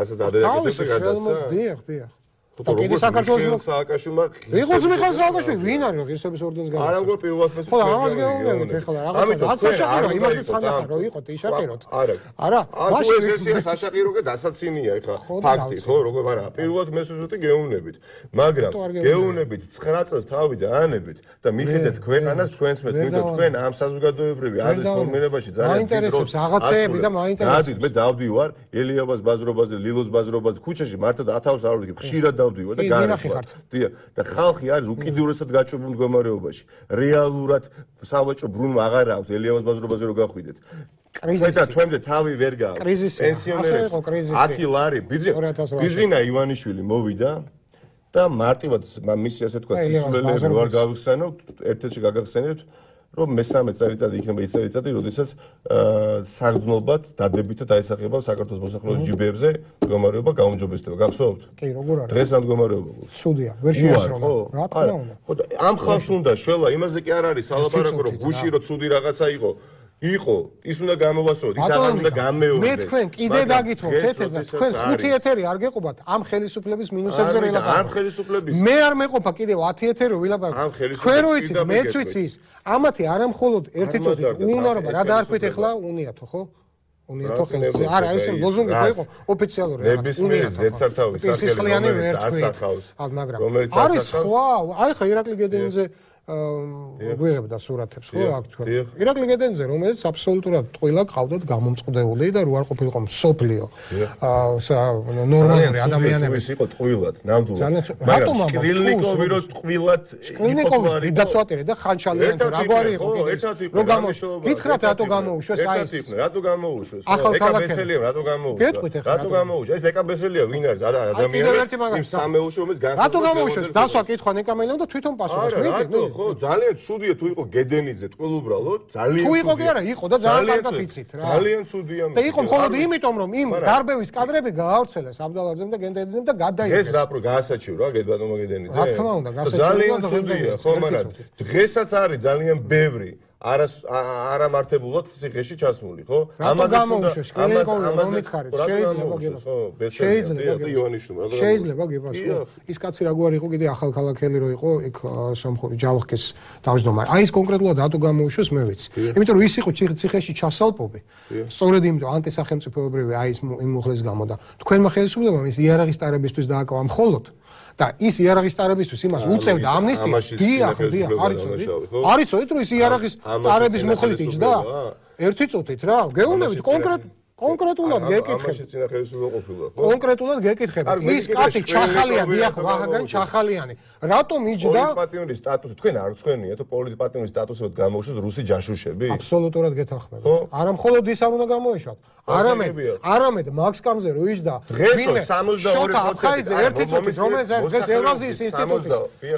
რასაც ადედა გადასცა დიახ დიახ და კიდე საქართველოს სააკაშვილმა ვიღოც მიხეილ სააკაშვილი ვინ არის ღირსების ორდენის გამოსცემ არა როგორ პირველად მე ხო ამას გეუბნებით ეხლა რაღაცა რაც საშაყირო იმასაც ხანდახან რო იყო იშაყიროთ არა არა მაშინ ეს ესეა საშაყირო და დასაცინია ეხლა ფაქტი ხო როგორ არა პირველად მე სუსტი გეუბნებით მაგრამ გეუბნებით ცხრა წელს თავი და ანებით და მიხედეთ ქვეყანას თქვენს მე თვითონ თქვენ ამ საზოგადოებრივი აზრის ფორმირებაში ძალიან მაინტერესებს რაღაცეები და მაინტერესებს მე დავდივარ ელიაბას ბაზრობაზე ლილოს ბაზრობაზე ქუჩაში მართლა ათავს არ ვიქი ხშირად დავდივარ და განახართ დიახ და ხალხი არის უკიდურესად გაჭრილ მდგომარეობაში რეალურად სავაჭრო ბრუნვა აღარ აქვს ელიაბას ბაზრობაზე რო გახვიდეთ კრიზისი და თქვენდე თავი ვერ გააქვს პენსიონერებს ათი ლარი ბიძინა ივანიშვილი მოვიდა და მარტივად მისი ასე თქვა სისულელეები რო არ გავიხსენო ერთ-ერთში გაგახსენებთ რომ მესამე წელიწადი იქნება ის წელიწადი, როდესაც საგრძნობად დადებითად დაესახება საქართველოს მოსახლეობის ჯიბეებზე მდგომარეობა გაუმჯობესდება. გახსოვთ? კი, როგორ არის? დღეს ამ მდგომარეობა გვაქვს. სუდია, ვერ შეასრულა. რა თქმა უნდა. ხო, ამ ხალხს უნდა შველა, იმაზე კი არ არის სალაპარაკო, რომ გუში რო ცუდი რაღაცა იყო. იყო, ის უნდა გამოვასწოროთ, ის აღარ უნდა გამეორდეს. მე თქვენ კიდე დაგითხრობ, თეთრზე, თქვენ ხუთი ეთერი არ გეყოფათ ამ ხელისუფლების მინუსებზე ვილაპარაკოთ. ამ ხელისუფლების. მე არ მეყოფა კიდევ ათი ეთერი ვილაპარაკოთ. თქვენ რო იცით, მეც ვიცი ის. ამათი არა მხოლოდ ერთი წუთი უნარობა, რა დაარქვით ახლა, უნიათო, ხო? უნიათო ხელზე. არა, ეს ლოზუნგი ხო იყო ოფიციალური რაღაც. უნიათო. ზეცართავის სახელი ასახავს. მაგრამ არის სხვა, აი ხა ირაკლი გედენიძე გვიღებდა სურათებს ხო აქ თქვენ ირაკლი გედენიძე რომელიც აბსოლუტურად ტყილა ყავდათ გამომწყდეული და რო არ ყოფილიყო მსოფლიო ნორმალური ადამიანების იყო ტყილად ნამდვილად მაგრამ შკრილნიკოვი რო ტყილად შკრილნიკოვი დედაცვატერი და ხანჩალიანი რაგვარი იყო რო გამოუშვა გითხრათ რატო გამოუშვეს აი ეს რატო გამოუშვეს ეკაბესელია რატო გამოუშვა რატო გამოუშვა ეს ეკაბესელია ვინ არის ადამიანი სამეულში რომელიც განსაკუთრებით რატო გამოუშვეს დასვა კითხვა ნეკამელემ და თვითონ პასუხს მიიღო ხო ძალიან ცუდია თუ იყო გედენიძე ტყილ უბრალოდ ძალიან თუ იყო კი არა იყო და ძალიან კარგად იცით რა ძალიან ცუდია და იყო მხოლოდ იმიტომ რომ იმ დარბევის კადრები გაავრცელეს აბდალაძემ და გენდელიძემ და გადაიღეს ეს რა პრო გაასაჩივრა გედბატონმა გედენიძე რა თქმა უნდა გაასაჩივრა ძალიან ცუდია ხო მაგრამ დღესაც არის ძალიან ბევრი არა არამართებულად ციხეში ჩასმული, ხო? ამაზეც უნდა ამას ამაზე შეიძლება შეიძლება ივანიშვილმა რა შეიძლება გებასო ის კაცი რაგვარი იყო კიდე ახალქალაქელი რო იყო იქ სომხური ჯავახკის თავმჯდომარე აი ეს კონკრეტულად რატო გამოუშვეს მე ვიცი იმიტომ რომ ის იყო ციხეში ჩასალპობი სწორედ იმიტომ ანტისახელმწიფოებრივი აი ეს იმ მუხლეს გამო და თქვენმა ხელისუფლებამ ის იარაღის ტარებისთვის დააკავა მხოლოდ და ის იარაღის ტარებისთვის იმას უწევდა ამნისტია დიახ დიახ არიცოდით არიცოდით რომ ის იარაღის ტარების მუხლით იჯდა ერთი წუთით რა გეუბნებით კონკრეტ კონკრეტულად გეკითხები. ამაში წინა ხელისუფლება ყოფილა, ხო? კონკრეტულად გეკითხები. ის კაცი ჩახალიანი, დიახ, ვაღაგან ჩახალიანი. რატომ იჯდა? პოლიტპატიმრის სტატუსი თქვენ არ წვენია, თუ პოლიტპატიმრის სტატუსით გამოუშვეს რუსი ჯაშუშები? აბსოლუტურად გეთანხმებით. არა მხოლოდ ის არ უნდა გამოეშვათ. არამედ, არამედ მაქს კამზე რო იჯდა, ვინმე შოთა აფხაიძე ერთი წუთით, რომელიც არის დღეს ევრაზიის ინსტიტუტის,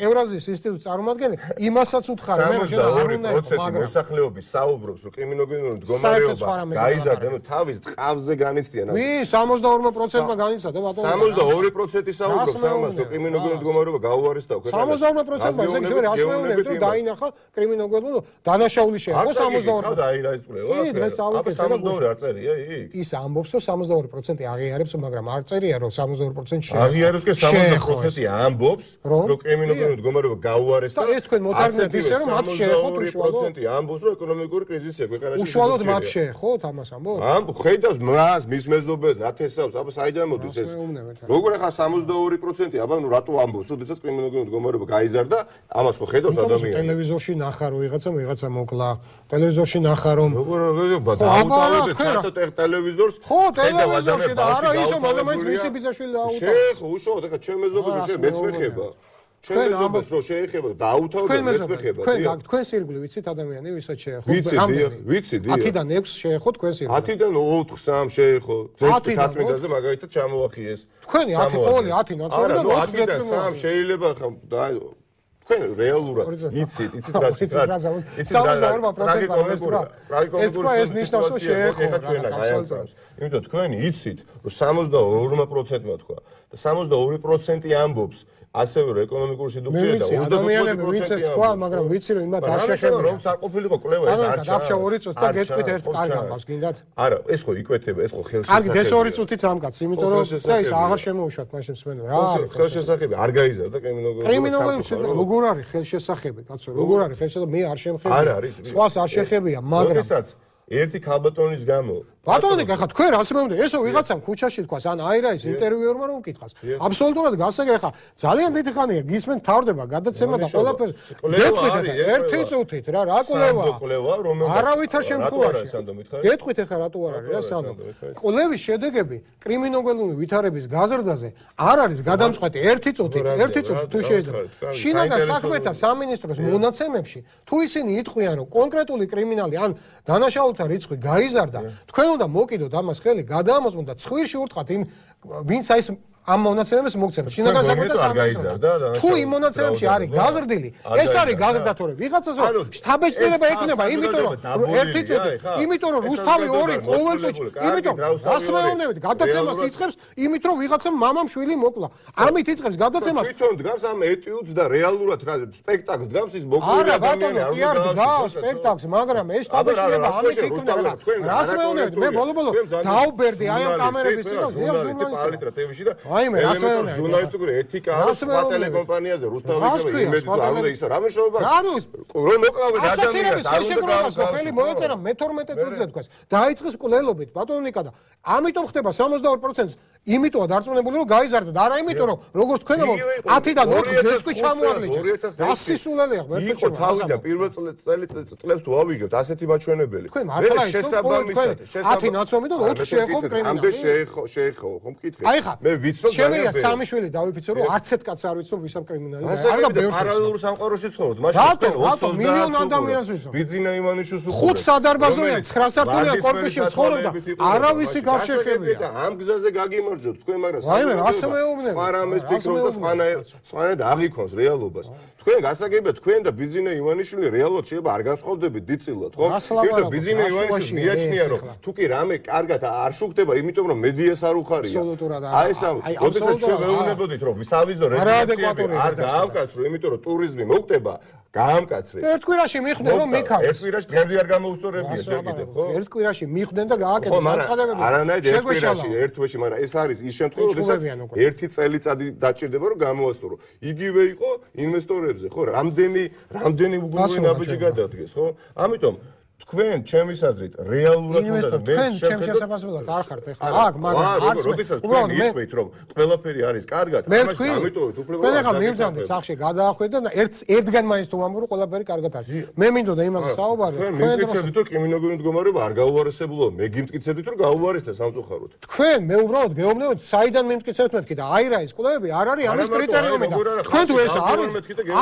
ევრაზიის ინსტიტუტის წარმომადგენელი, იმასაც უთხარი, მე რა არ უნდა იყო, მაგრამ მოსახლეობის საუბრობს, რომ კრიმინოგენური მდგომარეობა გაიზარდა, ნუ თავის ტყავზე განიცდიან. ვინ სამოცდაორ პროცენტმა განიცადა, ბატონო? სამოცდაორი პროცენტი საუბრობს ამას, რომ კრიმინოგენური მდგომარეობა გაუარესდა ქვეყანაში. სამოცდაორ პროცენტმა ესე იგი რას მეუბნებით, რომ დაინახა კრიმინოგენური დანაშაული შეეხო სამოცდაორ პროცენტს. დაირაისწრება. კი, დღეს ავიკეთე. სამოცდაორი არ წერია იქ? ის ამბობს, რომ სამოცდაორი პროცენტი აღიარებს, მაგრამ არ წერია, რომ სამოცდაორი პროცენტი შეეხო. აღიარებს კი სამოცდაორი პროცენტი ამბობს, რომ კრიმინოგენური მდგომარეობა გაუარესდა. და ეს თქვენ მოტარგმნით ისე, რომ მათ შეეხოთ უშუალოდ პროცენტი ამბობს, რომ ეკონომიკური კრიზისია ქვეყანაში. უშუალოდ მათ შეეხოთ ამას ამბობს? ამბ ხედავს მას, მის მეზობელს, ნათესავს, აბა საიდან მოდის ეს? როგორ ახლა სამოცდაორი პროცენტი, აბა ნუ რატო ამბობს, როდესაც კრიმინოგენური მდგომარეობა გაიზარდა, ამას ხო ხედავს ადამიანი. ტელევიზორში ნახა რომ ვიღაცა ვიღაცა მოკლა. ტელევიზორში ნახა რომ როგორ დაუტოვებთ ხარტო ტელევიზორს? ხო, ტელევიზორში და არა ისო მაგამაც მისი ბიზაშვილი დაუტოვე. შეეხო, უშუალოდ ახლა ჩემ მეზობელს შე მეც მეხება. ჩვენ მეზობელს რო შეეხება დაუთავდა მეც მეხება. თქვენ თქვენ სირგლი ვიცით ადამიანი ვისაც შეეხო? ვიცი, ვიცი, დიახ. ათიდან ექვსს შეეხო თქვენ სირგლი. ათიდან ოთხ სამ შეეხო. ზეწმიტ-ათწმიდაზე მაგალითად ჩამოახიეს. თქვენი ათი ყოველი ათი ნაცნობიდან ოთხ ზეწმიტ სამ შეიძლება ხა თქვენ რეალურად იცით, იცით რა შეიძლება. იცით სამოცდაორ პროცენტმა ეს რა ეს ნიშნავს რომ შეეხო აბსოლუტურად. იმიტომ თქვენ იცით რომ სამოცდაორ პროცენტმა თქვა და სამოცდაორი პროცენტი ამბობს ასევე რომ ეკონომიკური სიდუქცია და ადამიანები ვიცით თქვა, მაგრამ ვიცი რომ იმათ არ შეეხება. რომ არ ყოფილიყო კვლევა ეს არ ჩა. დაბჭა ორი წუთი და გეტყვით ერთ კარგ ამბავს, გინდათ? არა, ეს ხო იკვეთება, ეს ხო ხელშესახებია. კარგი, ეს ორი წუთით ამკაც, იმიტომ რომ ეს აღარ შემოუშვათ მაშინ მსმენელი. რა არის ხელშესახები? არ გაიზარდა კრიმინოგენური. კრიმინოგენური როგორ არის ხელშესახები, კაცო, როგორ არის ხელშესახები? მე არ შემხებია. არ არის. სხვას არ შეხებია, მაგრამ ერთი ქალბატონის გამო ბატონი, ახლა თქვენ რას მეუბნე? ესო ვიღაცამ ქუჩაში თქვას, ან აირაის ინტერვიუერმა რომ უკითხას. აბსოლუტურად გასაგები, ახლა ძალიან დიდი ხანია გისმენ თავდება გადაცემა და ყველაფერს. გეტყვით ახლა ერთი წუთით რა, რა კვლევა? არავითარ შემთხვევაში. გეტყვით ახლა რატო არ არის რა სანდო? კვლევის შედეგები კრიმინოგენური ვითარების გაზრდაზე არ არის გადამწყვეტი ერთი წუთით, ერთი წუთით თუ შეიძლება. შინაგან საქმეთა სამინისტროს მონაცემებში თუ ისინი იტყვიან, რომ კონკრეტული კრიმინალი ან დანაშაულთა რიცხვი გაიზარდა, თქვენ უნდა მოკიდოთ ამას ხელი, გადაამოწმოთ და ცხვირში ურტყათ იმ ვინც აი ეს ამ მონაცემებს მოგცემთ. შინაგან საქმეთა სამინისტროს. თუ იმ მონაცემებში არის გაზრდილი, ეს არის გაზრდა თორე ვიღაცას შტაბეჭდილება ექნება, იმიტომ რომ ერთი წუთი, იმიტომ რომ რუსთავი ორი ყოველ წუთში, იმიტომ რას მეუბნებით, გადაცემას იწყებს, იმით რომ ვიღაცამ მამამ შვილი მოკლა. ამით იწყებს გადაცემას. თვითონ დგას ამ ეტიუდს და რეალურად რა სპექტაკლს დგას ის მოკლე ადამიანი არ კი არ დგას სპექტაკლს, მაგრამ ეს შტაბეჭდილება ამით იქნება. რას მეუბნებით, მე ბოლო-ბოლო დაუბერდი აი ამ კამერების წინ და აი მე რას მეუბნე ჟურნალისტური ეთიკა არის ტელეკომპანიაზე რუსთავი იმედი თუ არ უნდა ისო რა მეშობა რომ მოკლავენ ადამიანს არ უნდა გავასწრო ხელი მოეწერა მეთორმეტე წუთზე თქვას დაიწყეს კვლელობით ბატონიკა და ამიტომ ხდება სამოცდაორ პროცენტს იმიტოა დარწმუნებული რომ გაიზარდა და არა იმიტომ რომ როგორც თქვენ ათიდან ოთხ ზეწყვი ჩამოაგლიჩეს ასისულელია მე იყო თავიდან პირველ წელს თუ ავიგებთ ასეთი მაჩვენებელი თქვენ მართლა ის თქვენ ათი ნაცნობიდან ოთხ შეეხო კრიმინალი ამდე შეეხო შეეხო ხომ მკითხე მე ვიცნობ შემიძლია სამი შვილი დავიფიცო რომ არც ერთ კაცს არ ვიცნობ ვისამ კრიმინალი არ და ბევრს პარალელურ სამყაროში ცხოვრობთ მაშინ ოცდაათ მილიონ ადამიანს ვიცნობ ბიძინა ივანიშვილს უხურე ხუთ სადარბაზოიან ცხრა სართულიან კორპუსში ცხოვრობდა არავისი გარშეხებია და ამ გზაზე გაგიმარჯოთ თქვენ მაგრამ საერთოდ რას მეუბნები სხვა რამეს ფიქრობთ და სხვანაირ სხვანაირად აღიქონს რეალობას თქვენ გასაგებია თქვენ და ბიძინა ივანიშვილი რეალურად შეიძლება არ განსხვავდებით დიდწილად ხო? იმიტომ ბიძინა ივანიშვილს მიაჩნია რომ თუ კი რამე კარგად არ შუქდება იმიტომ რომ მედიას არ უხარია აი ეს როდესაც ჩვენ მეუბნებოდით რომ სავიზო რეგულაციები არ გაამკაცრო იმიტომ რომ ტურიზმი მოხდება გაამკაცრეს. ერთ კვირაში მიხვდნენ რომ მიქარეს. ერთ კვირაში დღემდე არ გამოუსწორებია შეგიდე, ხო? ერთ კვირაში მიხვდნენ და გააკეთეს განცხადებები. არანაირ ერთ კვირაში, ერთ თვეში, მაგრამ ეს არის ის შემთხვევა, როდესაც ერთი წელიწადი დაჭირდება რომ გამოასწორო. იგივე იყო ინვესტორებზე, ხო? რამდენი რამდენი უგუნური ნაბიჯი გადადგეს, ხო? ამიტომ თქვენ ჩემის აზრით რეალურად უნდა და მე ჩემს შესაძლებლად არ ხართ ეხლა აქ მაგრამ არც უბრალოდ მე ვიტყვით რომ ყველაფერი არის კარგად ამას ამიტოვეთ უბრალოდ თქვენ ეხლა მივძანდეთ სახში გადაახვიდეთ და ერთ ერთგან მაინც თუ ამბობ რომ ყველაფერი კარგად არის მე მინდოდა იმაზე საუბარი თქვენ მიგწევდით რომ კრიმინალური მდგომარეობა არ გაუარესებულა მე გიმტკიცებდით რომ გაუარესდა სამწუხაროდ თქვენ მე უბრალოდ გეუბნებოდ საიდან მიმტკიცებთ მეთქი და აი რა ის კვლევები არ არის ამის კრიტერიუმი და თქვენ თუ ეს არის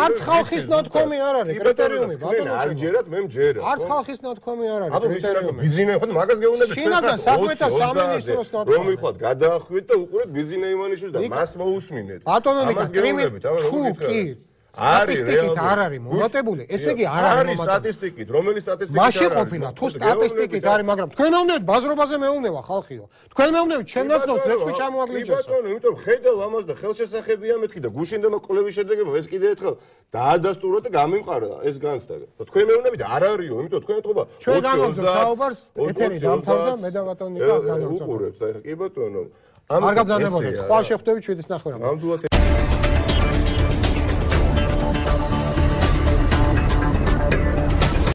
არც ხალხის ნათქვამი არ არის კრიტერიუმი ბატონო არ ჯერათ მე მჯერა არც ხალხის ნათქვამი არ არის კრიტერიუმი ბიძინა ხო მაგას გეუბნებით შინაგან საქმეთა სამინისტროს ნათქვამი რომ იხვალ გადაახვიდეთ და უყურეთ ბიძინა ივანიშვილს და მას მოусმინეთ ბატონო ნიკა კრიმინალური თუ კი სტატისტიკით არ არის მომატებული, ესე იგი არ არის მომატებული. სტატისტიკით, რომელი სტატისტიკით? მაშინ ყოფილა, თუ სტატისტიკით არის, მაგრამ თქვენ მეუბნებით ბაზრობაზე მეუბნება ხალხიო. თქვენ მეუბნებით ჩემნაცნობს ზეცხვი ჩამოაგლიჯესო. ბატონო, იმიტომ რომ ხედავ ამას და ხელშესახებია მეთქი და გუშინდა კვლევის შედეგებმა ეს კიდე ერთხელ დაადასტურა და გამიმყარა ეს განცდა. თქვენ მეუბნებით არ არისო, იმიტომ თქვენ ეთქობა ჩვენ განვაგზავნებთ საუბარს ეთერი დამთავრდა მე და ბატონო ნიკა განვაგზავნებთ. უყურებთ, აი კი ბატონო. არ გაგზავნებოდეთ, ხვალ შეხვდებით შვიდის ნახევარამდე. ნამდვილად